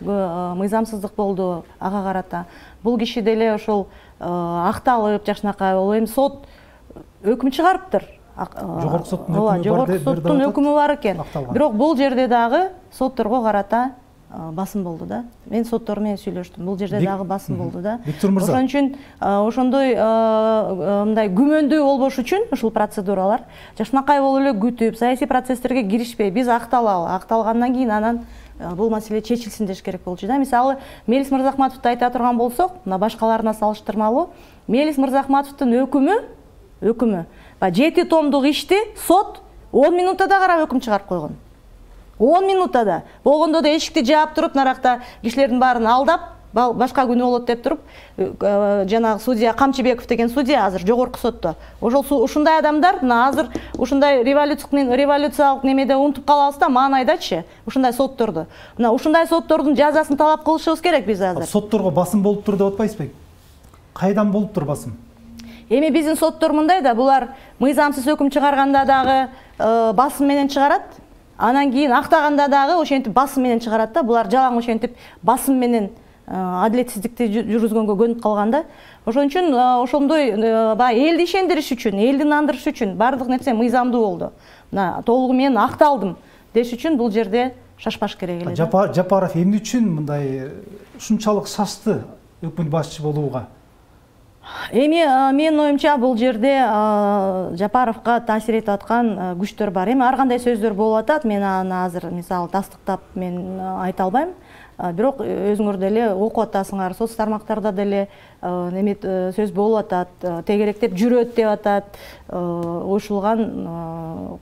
Мыйзамсыздык болду ага карата. Бул киши деле ошол акталып, жакшынакай болуп, эми сот өкүм чыгарыптыр. Жогорку соттун өкүмү бар. Жогорку соттун өкүмү бар экен. Бирок бул жерде дагы сотторго карата басым болду да. Мен соттор менен сүйлөштүм. Бул жерде дагы басым болду да. Ошон үчүн ошондой мындай күмөндүү болбош үчүн ушул процедуралар жакшынакай болуп эле күтүп, саясий процесстерге киришпей, биз акталалы, акталгандан кийин анан бул маселе чечилсин деш керек болчу да. Мисалы, Мелис Мырзахматовду айта турган болсок, мына башкаларына салыштырмалуу, Мелис Мырзахматовдун өкүмү, өкүмү, жети томдук ишти сот он минутада карап өкүм чыгарып койгон. он минутада. Болгондо да эшикти жаап туруп, наракта кишилердин баарын алдап, башка күнү болот деп туруп, жанагы судья Камчыбеков деген судья азыр жогорку сотто. Ошол ушундай адамдар мына азыр ушундай революциялык немеде унутуп калабыз да, мага айдачы, ушундай сотторду. Мына ушундай соттордун жазасын талап кылышыбыз керек биз азыр. Сотторго басым болуп тур деп атпайсызбы? Кайдан болуп тур басым? Эми биздин соттор мындай да, булар мыйзамсыз өкүм чыгарганда дагы басым менен чыгарат. Анан кийин актаганда дагы ошентип басым менен чыгарат да. Булар жалаң ошентип басым менен адилетсиздикти жүргүзгөнгө көнүп калганда. Ошон үчүн ошондой баягы элди ишендириш үчүн, элди нандырыш үчүн баардык нерсе мыйзамдуу болду. Мына толугу менен акталдым деш үчүн бул жерде шашпаш керек эле. Жапаров эмне үчүн мындай ушунчалык шашты өкмөт башчы болууга? Эми менин оюмча бул жерде Жапаровго таасир этип аткан күчтөр бар. Эми ар кандай сөздөр болуп атат, мен аны азыр мисалы тастыктап мен айта албайм. Бирок өзүңөр деле окуп атасыңар, соц тармактарда деле неме сөз болуп атат, тегеректеп жүрөт деп атат, уюшулган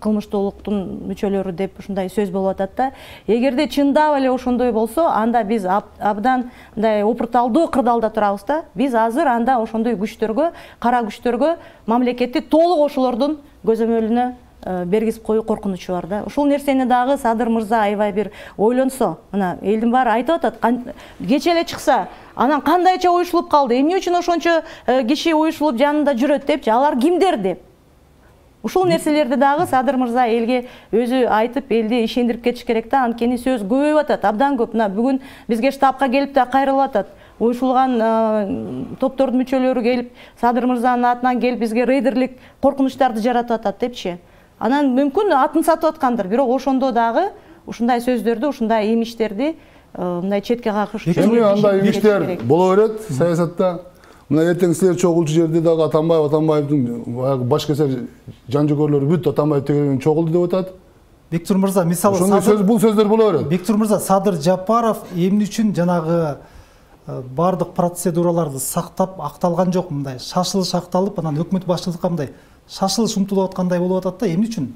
кылмыштуулуктун мүчөлөрү деп ушундай сөз болуп атат да. Эгерде чындап эле ошондой болсо, анда биз абдан мындай опурталдуу кырдаалда турабыз да. Биз азыр анда ошондой күчтөргө, кара күчтөргө мамлекетти толук ошолордун көзөмөлүнө бергизип коюу коркунучу бар да. Ушул нерсени дагы Садыр мырза аябай бир ойлонсо, мына элдин баары айтып атат, кече эле чыкса, анан кандайча уюшулуп калды, эмне үчүн ошончо киши уюшулуп жанында жүрөт депчи, алар кимдер деп. Ушул нерселерди дагы Садыр мырза элге өзү айтып, элди ишендирип кетиш керек да. Анткени сөз көбөйүп атат, абдан көп. Мына бүгүн бизге штабка келип да кайрылып атат. Уюшулган топтордун мүчөлөрү келип, Садыр мырзанын атынан келип бизге рейдерлик коркунучтарды жаратып атат депчи. Анан мүмкүн атын сатып аткандыр, бирок ошондо дагы ушундай сөздөрдү, ушундай имиштерди мындай четке какыш үчүн. Эми андай имиштер боло берет саясатта. Мына эртең силер чогулчу жерде дагы Атамбаев, Атамбаевдин баш кесер жан-жөгөрлөрү бүт Атамбаев тегерен чогулду деп атат. Бектур мырза, мисалы ошондой сөз, бул сөздөр боло берет. Бектур мырза, Садыр Жапаров эмне үчүн жанагы бардык процедураларды сактап акталган жок, мындай шашылыш акталып, анан өкмөт башчылыкка мындай шашылыш умтулуп аткандай болуп атат да, эмне үчүн?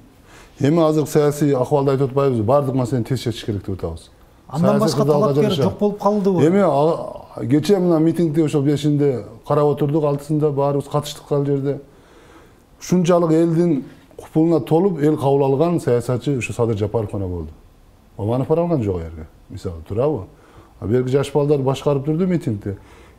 Эми азыр саясий акыбалды айтып атпайбызбы? Бардык маселени тез чечиш керек деп атабыз. Андан башка талапкер жок болуп калдыбы? Эми кече мына митингде ошол бешинде карап отурдук, алтысында баарыбыз катыштык ал жерде. Ушунчалык элдин купулуна толуп эл кабыл алган саясатчы ушу Садыр Жапаров гана болду. Оманов бара алган жок жерге. Мисалы турабы? Берки жаш балдар башкарып турду митингде.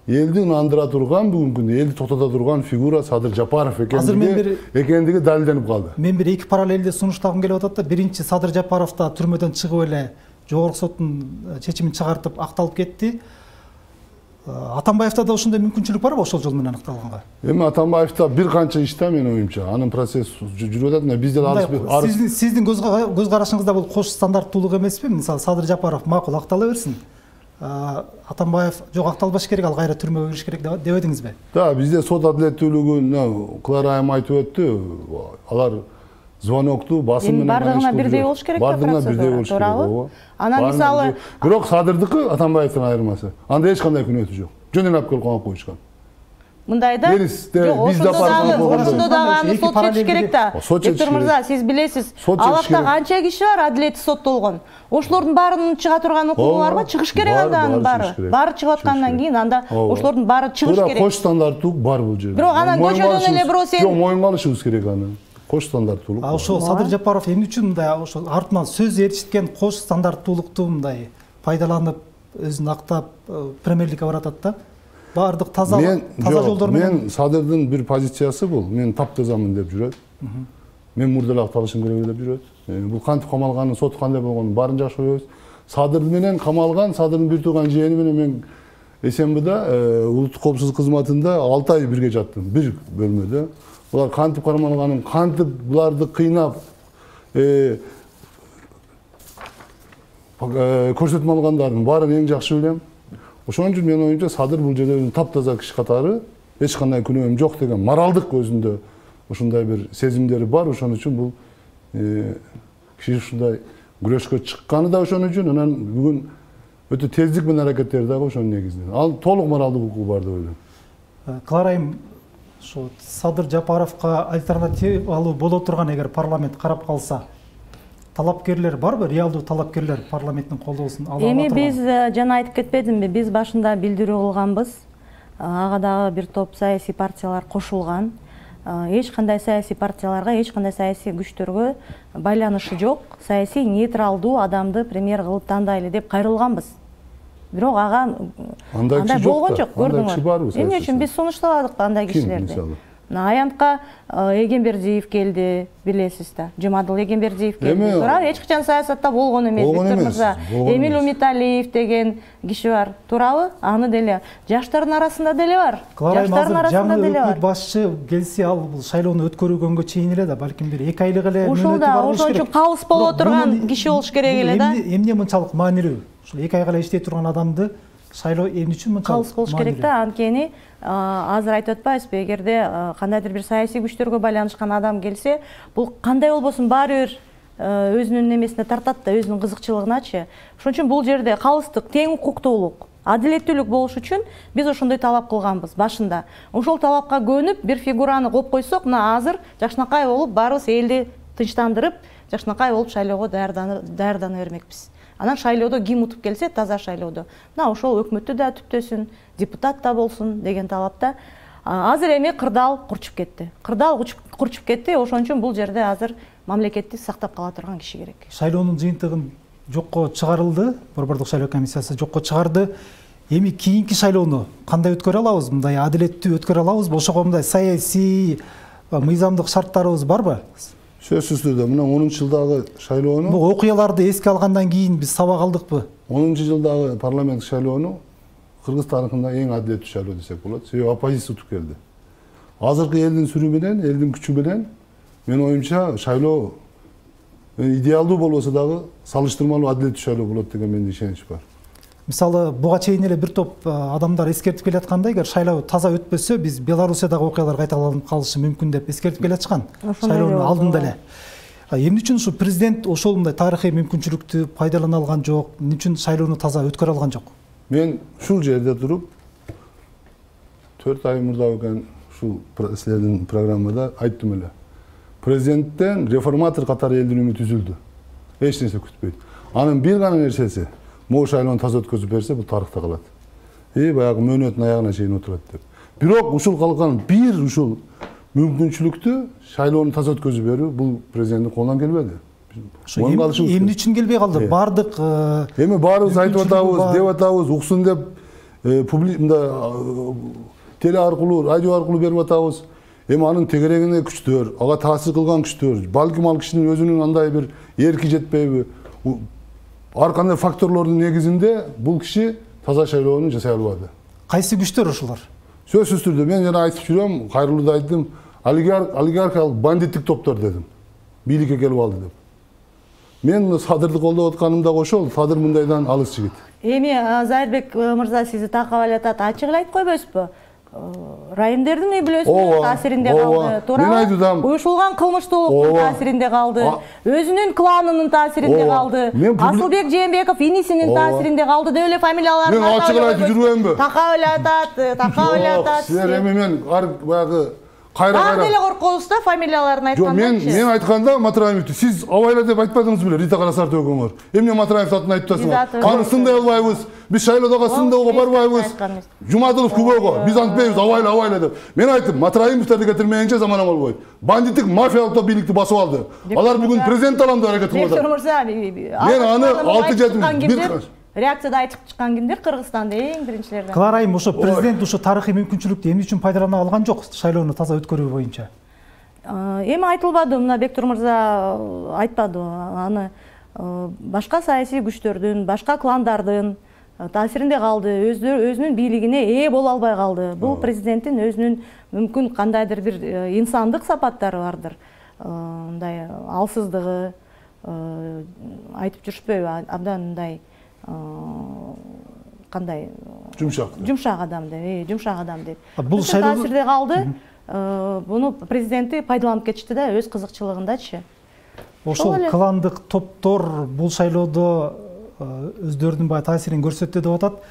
Элди нандыра турган, бүгүнкү күндө элди токтото турган фигура Садыр Жапаров экендиги экендиги далилденип калды. Мен бир эки параллелди сунуштагым келип атат да. Биринчи, Садыр Жапаров да түрмөдөн чыгып эле жогорку соттун чечимин чыгартып акталып кетти. Атамбаевда да ошондой мүмкүнчүлүк барбы ошол жол менен акталганга? Эми Атамбаевда бир канча иште менин оюмча, анын процесс жүрүп атат. Бизде арыз сиздин көз карашыңызда бул кош стандарттуулук эмеспи? Мисалы Садыр Жапаров макул актала берсин. Атамбаев жок акталбаш керек, ал кайра түрмөгө кириш керек деп эдиңизби? Да, бизде сот адилеттүүлүгүн Клара айым айтып өттү. Алар звонокту басым менен бардыгына бирдей болуш керек да, бардыгына бирдей болуш керек. Анан мисалы бирок Садырдыкы Атамбаевдин айырмасы. Анда эч кандай күнөөтү жок. Жөн эле алып келип камап коюшкан. Мындайда ошондо дагы аны сот чечиш керек да. Бектур мырза, сиз билесиз, алакта канча киши бар адилетсиз соттолгон. Ошолордун баарынын чыга турган укугу барбы? Чыгыш керек анда анын баары. Баары чыгып аткандан кийин анда ошолордун баары чыгыш керек. Кош стандарттуулук бар бул жерде. Бирок анан көчөдөн эле бирөө сен жок, моюнга алышыбыз керек аны. Кош стандарттуулук. А ошо Садыр Жапаров эмне үчүн мындай ошол артынан сөз ээрчиткен кош стандарттуулукту мындай пайдаланып өзүн актап премьерликке баратат да? Бардык таза таза жолдор менен. Мен Садырдын бир позициясы бул, мен таптазамын деп жүрөт. Мен мурда акталышым керек деп жүрөт. Бул кантип камалганын, сот кандай болгонун баарын жакшы билебиз. Садыр менен камалган, Садырдын бир тууган жээни менен мен СМБда улуттук коопсуздук кызматында алты ай бирге жаттым, бир бөлмөдө. Булар кантип камалганын, кантип буларды кыйнап көрсөтмө алгандарын баарын эң жакшы билем. Ошон үчүн менин оюмча Садыр бул жерде өзүнүн таптаза киши катары, эч кандай күнөөм жок деген моралдык өзүндө ушундай бир сезимдери бар. Ошон үчүн бул киши ушундай күрөшкө чыкканы да ошон үчүн, анан бүгүн өтө тездик менен аракеттери дагы ошонун негизинен. Ал толук моралдык укугу бар деп ойлойм. Клара айым, ошо Садыр Жапаровго альтернативалуу боло турган эгер парламент карап калса, талапкерлер барбы, реалдуу талапкерлер парламенттин колдоосун ала алат? Эми биз жана айтып кетпедимби, биз башында билдирүү кылганбыз. Ага дагы бир топ саясий партиялар кошулган. Эч кандай саясий партияларга, эч кандай саясий күчтөргө байланышы жок, саясий нейтралдуу адамды премьер кылып тандайлы деп кайрылганбыз. Бирок ага андай болгон жок, көрдүңөр. Эмне үчүн биз сунуштабадык андай кишилерди? Аянтка Эгембердиев келди, билесиз да. Жумадыл Эгембердиев келди. Туурабы? Эч качан саясатта болгон эмес, Виктор мырза. Эмил Умиталиев деген киши бар. Туурабы? Аны деле жаштардын арасында деле бар. Жаштардын арасында деле бар. Жаңы башчы келсе, ал бул шайлоону өткөргөнгө чейин эле да, балким бир эки айлык эле мөөнөтү бар болуш керек. Ошон үчүн калыс боло турган киши болуш керек эле да. Эмне мынчалык маанилүү? Ушул эки айга эле иштей турган адамды шайлоо эмне үчүн мынчалык калыс болуш керек да? Анткени азыр айтып атпайбызбы, эгерде кандайдыр бир саясий күчтөргө байланышкан адам келсе, бул кандай болбосун баары бир өзүнүн эмесине тартат да, өзүнүн кызыкчылыгыначы. Ошон үчүн бул жерде калыстык, тең укуктуулук, адилеттүүлүк болуш үчүн биз ошондой талап кылганбыз башында. Ошол талапка көнүп бир фигураны коюп койсок, мына азыр жакшынакай болуп баарыбыз элди тынчтандырып, жакшынакай болуп шайлоого даярдана бермекпиз. Анан шайлоодо ким утуп келсе, таза шайлоодо. Мына ошол өкмөттү да түптөсүн, депутат да болсун деген талапта. Азыр эми кырдаал курчуп кетти. Кырдаал курчуп кетти, ошон үчүн бул жерде азыр мамлекетти сактап кала турган киши керек. Шайлоонун жыйынтыгын жокко чыгарылды, Борбордук шайлоо комиссиясы жокко чыгарды. Эми кийинки шайлоону кандай өткөрө алабыз? Мындай адилеттүү өткөрө алабызбы? Ошого мындай саясий мыйзамдык шарттарыбыз барбы? Сөзсүз түрдө мына онунчу жылдагы шайлоону, бул окуяларды эске алгандан кийин биз сабак алдыкпы? онунчу жылдагы парламент шайлоону Кыргыз тарыхында эң адилеттүү шайлоо десек болот. Себеби оппозиция утуп келди. Азыркы элдин сүрү менен, элдин күчү менен менин оюмча шайлоо идеалдуу болбосо дагы салыштырмалуу адилеттүү шайлоо болот деген менде ишенич бар. Мисалы, буга чейин эле бир топ адамдар эскертип келаткандай, эгер шайлоо таза өтпөсө, биз Белоруссиядагы окуялар кайталанып калышы мүмкүн деп эскертип келаткан. Шайлоонун алдында эле. Эмне үчүн ушу президент ошол мындай тарыхый мүмкүнчүлүктү пайдалана алган жок? Эмне үчүн шайлоону таза өткөрө алган жок? Мен ушул жерде туруп төрт ай мурда экен ушул силердин программада айттым эле. Президенттен реформатор катары элдин үмүтү үзүлдү. Эч нерсе күтпөйт. Анын бир гана нерсеси могу шайлоону таза өткөзүп берсе, бул тарыхта калат. И баягы мөөнөттүн аягына чейин отурат деп. Бирок ушул калган бир ушул мүмкүнчүлүктү шайлоону таза өткөзүп берүү бул президенттин колунан келбеди. Эмне үчүн келбей калды? Бардык эми баарыбыз айтып атабыз, деп атабыз, уксун деп теле аркылуу, радио аркылуу берип атабыз. Эми анын тегерегине күчтөр, ага таасир кылган күчтөр, балким ал кишинин өзүнүн андай бир эрки жетпейби? Ар кандай факторлордун негизинде бул киши таза шайлоону жасай албады. Кайсы күчтөр ошолор? Сөзсүз түрдө мен жана айтып жүрөм, кайрылуу да айттым, олигархиялык бандиттик топтор дедим. Бийликке келип алды деп. Мен Садырды колдоп атканымда ошол, Садыр мындайдан алыс жигит. Эми Зайырбек мырза сизди такап алатат, ачык эле айтып койбойсузбу? Райымдердин үй бүлөсүнүн таасиринде калды. Туура. Уюшулган кылмыштуулуктун таасиринде калды. Өзүнүн кланынын таасиринде калды. Асылбек Жээнбеков инисинин таасиринде калды деп эле фамилияларын мен ачык эле айтып жүрбөймүнбү? Такап эле атат, такап эле атат. Силер эми мен баягы кайра-кайра деле коркобуз да фамилияларын айтканда. Жок, мен мен айтканда Матраевди сиз абайла деп айтпадыңыз беле, Рита Карасартов экөөңөр. Эмне Матраевди атын айтып атасыңар? Аны сындай албайбыз. Биз шайлоодогу сындоого барбайбыз. Жумадылов күбөгө. Биз антпайбыз абайла абайла деп. Мен айттым, Матраевдерди кетирмегенче замана болбойт. Бандиттик мафиялык бийликти басып алды. Алар бүгүн президент алам деп аракет кылып атат. Мен аны алты жети реакцияда айтып чыккан кимдер? Кыргызстанда эң биринчилерден. Клара Айым, ошо президент ошо тарыхый мүмкүнчүлүктү эмне үчүн пайдалана алган жок шайлоону таза өткөрүү боюнча? Эми айтылбады, мына Бектур мырза айтпады. Аны башка саясий күчтөрдүн, башка кландардын таасиринде калды, өзүнүн бийлигине ээ боло албай калды. Бул президенттин өзүнүн мүмкүн кандайдыр бир инсандык сапаттары бардыр. Мындай алсыздыгы, айтып жүрүшпөйбү, абдан мындай кандай жумшак жумшак адам деп, жумшак адам деп. Бул таасирде калды. Буну президенти пайдаланып кетишти да өз кызыкчылыгындачы. Ошол кландык топтор бул шайлоодо өздөрүнүн бай таасирин көрсөттү деп атат.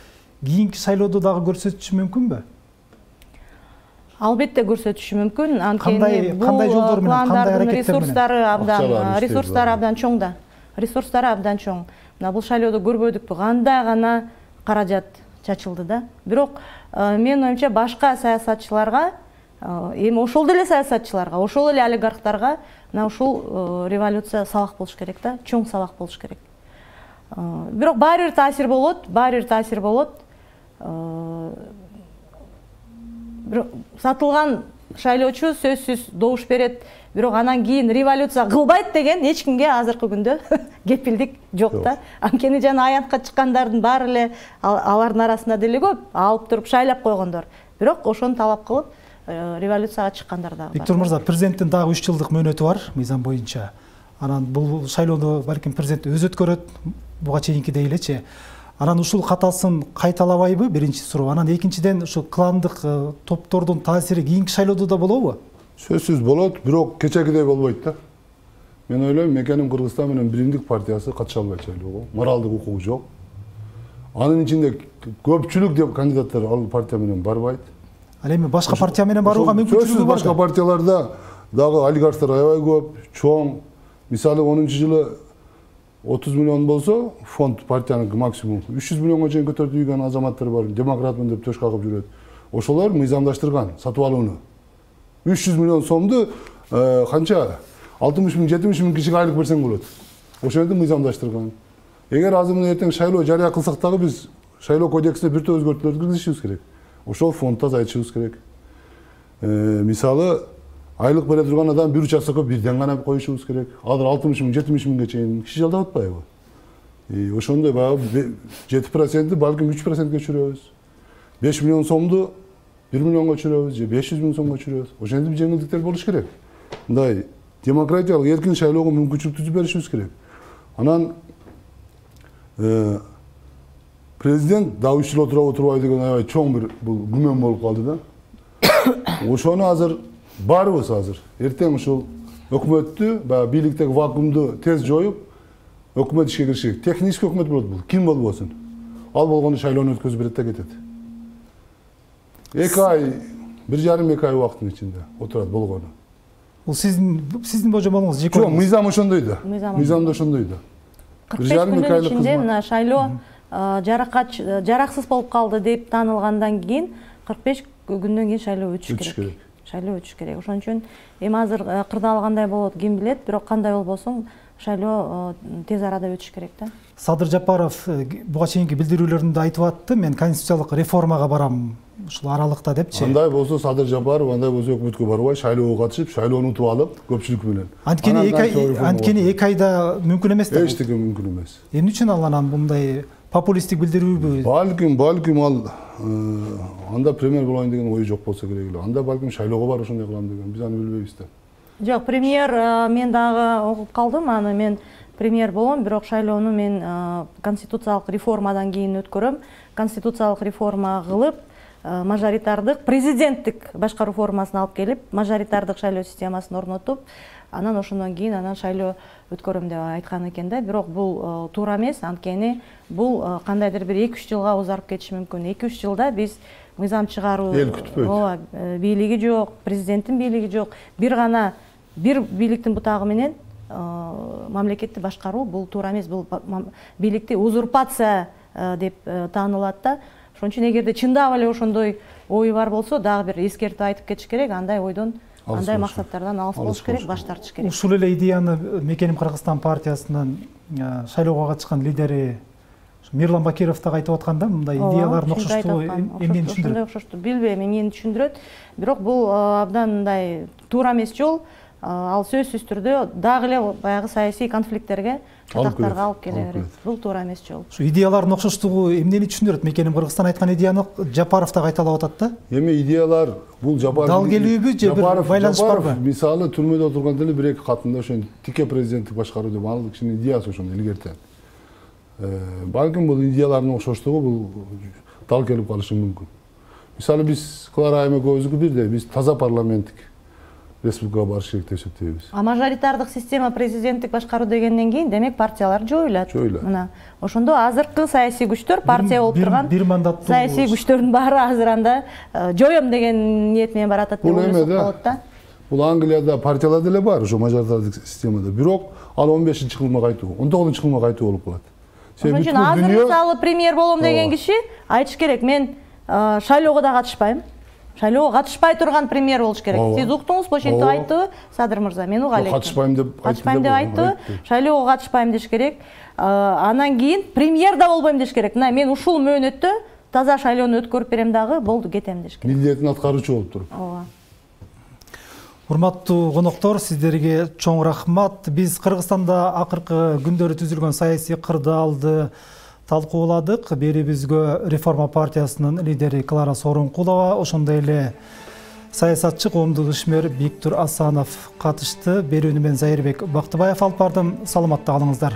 Кийинки шайлоодо дагы көрсөтүшү мүмкүнбү? Албетте көрсөтүшү мүмкүн. Анткени бул кландардын ресурстары абдан ресурстары абдан чоң да. ресурстары абдан чоң. Мына бул шайлоодо көрбөдүкпү, кандай гана каражат чачылды да. Бирок менин оюмча башка саясатчыларга, эми ошол деле саясатчыларга, ошол эле олигархтарга мына ушул революция сабак болуш керек да, чоң сабак болуш керек. Бирок баары бир таасир болот, баары бир таасир болот. Сатылган шайлоочу сөзсүз добуш берет, бирок анан кийин революция кылбайт деген эч кимге азыркы күндө кепилдик жок да. Анткени жана аянтка чыккандардын баары эле алардын арасында деле көп алып туруп шайлап койгондор. Бирок ошону талап кылып революцияга чыккандар дагы бар. Виктор мырза, президенттин дагы үч жылдык мөөнөтү бар мыйзам боюнча. Анан бул шайлоону балким президент өзү өткөрөт, буга чейинкидей элечи. Анан ушул катасын кайталабайбы? Биринчи суроо. Анан экинчиден ушул кландык топтордун таасири кийинки шайлоодо да болобу? Сөзсүз болот, бирок кечегидей болбойт да. Мен ойлойм, Мекеним Кыргызстан менен Биримдик партиясы катыша албайт шайлоого. Моралдык укугу жок. Анын ичинде көпчүлүк деп кандидаттар ал партия менен барбайт. Ал эми башка партия менен барууга мүмкүнчүлүгү бар. Башка партияларда дагы олигархтар аябай көп, чоң. Мисалы онунчу жылы отуз миллион болсо, фонд партиянын максимум үч жүз миллионго чейин көтөрүп ийген азаматтар бар, демократмын деп төш кагып жүрөт. Ошолор мыйзамдаштырган сатып алууну. үч жүз миллион сомду канча алтымыш миң жетимиш миң кишиге айлык берсең болот. Ошону мыйзамдаштырган. Эгер азыр мына эртең шайлоо жарыя кылсак дагы биз шайлоо кодексине бир топ өзгөртүүлөр киргизишибиз керек. Ошол фондто азайтышыбыз керек. Мисалы айлык бере турган адам бир участокко бирден гана коюшубуз керек. Азыр алтымыш миң жетимиш миңге чейин киши жалдап атпайбы? Ошондой баягы жети процентти балким үч процентке түшүрөбүз. беш миллион сомду бир миллионго түшүрөбүз же беш жүз миң сомго түшүрөбүз. Ошентип жеңилдиктер болуш керек. Мындай демократиялык эркин шайлоого мүмкүнчүлүк түзүп беришибиз керек. Анан президент дагы үч жыл отура отурбайбы деген аябай чоң бир бул күмөн болуп калды да. Ошону азыр барыбыз азыр эртең ушул өкмөттү, баягы бийликтеги вакуумду тез жоюп, өкмөт ишке кириши керек. Технический өкмөт болот бул, ким болбосун. Ал болгондо шайлоону өткөзүп берет да кетет. эки ай, бир жарым эки ай убакыттын ичинде отурат болгону. Бул сиздин сиздин божомолуңуз жеке. Жок, мыйзам ошондой да. Мыйзамда ошондой да. кырк беш күндүн ичинде мына шайлоо жараксыз болуп калды деп таанылгандан кийин кырк беш күндөн кийин шайлоо өтүш керек. Шайлоо өтүш керек. Ошон үчүн эми азыр кырдаалгандай болот, ким билет, бирок кандай болбосун шайлоо тез арада өтүш керек да. Садыр Жапаров буга чейинки билдирүүлөрүндө айтып атты, мен конституциялык реформага барам ушул аралыкта депчи. Андай болсо Садыр Жапаров, андай болсо өкмөткө барбай шайлоого катышып, шайлоону утуп алып, көпчүлүк менен. Анткени эки ай, анткени эки айда мүмкүн эмес да. Эчтеке мүмкүн эмес. Эмне үчүн ал анан мындай популисттик билдирүүбү? Балким, балким ал анда премьер болоюн деген ою жок болсо керек эле. Анда балким шайлоого барып ошондой кылам деген. Биз аны билбейбиз да. Жок, премьер мен дагы окуп калдым, аны мен премьер болом, бирок шайлоону мен конституциялык реформадан кийин өткөрөм. Конституциялык реформа кылып, мажоритардык президенттик башкаруу формасына алып келип, мажоритардык шайлоо системасын орнотуп, анан ошондон кийин анан шайлоо өткөрөм деп айткан экен да. Бирок бул туура эмес, анткени бул кандайдыр бир эки үч жылга узарып кетиши мүмкүн. эки үч жылда биз мыйзам чыгаруу, эл күтпөйт. ооба, бийлиги жок, президенттин бийлиги жок. Бир гана бир бийликтин бутагы менен мамлекетти башкаруу бул туура эмес, бул бийликти узурпация деп таанылат да. Ошон үчүн эгерде чындап эле ошондой ою бар болсо, дагы бир эскертип айтып кетиш керек, андай ойдон, андай максаттардан алыс болуш керек, баш тартыш керек. Ушул эле идеяны Мекеним Кыргызстан партиясынын шайлоого катышкан лидери Мирлан Бакиров дагы айтып аткан да, мындай идеяларын окшоштугу эмнени түшүндүрөт? Ошондой окшоштук, билбейм, эмнени түшүндүрөт. Бирок бул абдан мындай туура эмес жол. Ал сөзсүз түрдө дагы эле баягы саясий конфликттерге, чатактарга алып келе берет. Бул туура эмес жол. Ушу идеялардын окшоштугу эмнени түшүндүрөт? Мекеним Кыргызстан айткан идеяны Жапаров дагы кайталап атат да. Эми идеялар бул Жапаров дал келүүбү же бир байланыш барбы? Мисалы түрмөдө отурганда эле бир эки катында ошо тике президенттик башкаруу деп ал кишинин идеясы ошондой илгертен. Балким бул идеялардын окшоштугу бул дал келип калышы мүмкүн. Мисалы биз Клара Айым экөөбүздүкү бирдей, биз таза парламенттик республикага барыш керек деп эсептейбиз. А мажоритардык система президенттик башкаруу дегенден кийин демек партиялар жоюлат. Жоюлат. Мына ошондо азыркы саясий күчтөр, партия болуп турган бир мандаттуу саясий күчтөрдүн баары азыр анда жоём деген ниет менен баратат деп ойлосок болот да. Бул Англияда партиялар деле бар, ошо мажоритардык системада. Бирок ал он бешинчи кылыма кайтуу, он тогузунчу кылыма кайтуу болуп калат. Ошон үчүн азыр мисалы премьер болом деген киши айтыш керек, мен шайлоого да катышпайм. Шайлоого катышпай турган премьер болуш керек. Сиз уктуңузбу, ошентип айттыбы Садыр мырза? Мен уга элек. Катышпайм деп катышпайм деп айтты. Шайлоого катышпайм деш керек. Анан кийин премьер да болбойм деш керек. Мына мен ушул мөөнөттө таза шайлоону өткөрүп берем дагы, болду, кетем деш керек. Милдетин аткаруучу болуп туруп. Ооба. Урматтуу коноктор, сиздерге чоң рахмат. Биз Кыргызстанда акыркы күндөрү түзүлгөн саясий кырдаалды талкууладык. Берибизгө Реформа партиясынын лидери Клара Сооронкулова, ошондой эле саясатчы коомдук ишмер Биктур Асанов катышты. Берүүнү мен Зайырбек Бактыбаев алып бардым. Саламатта калыңыздар.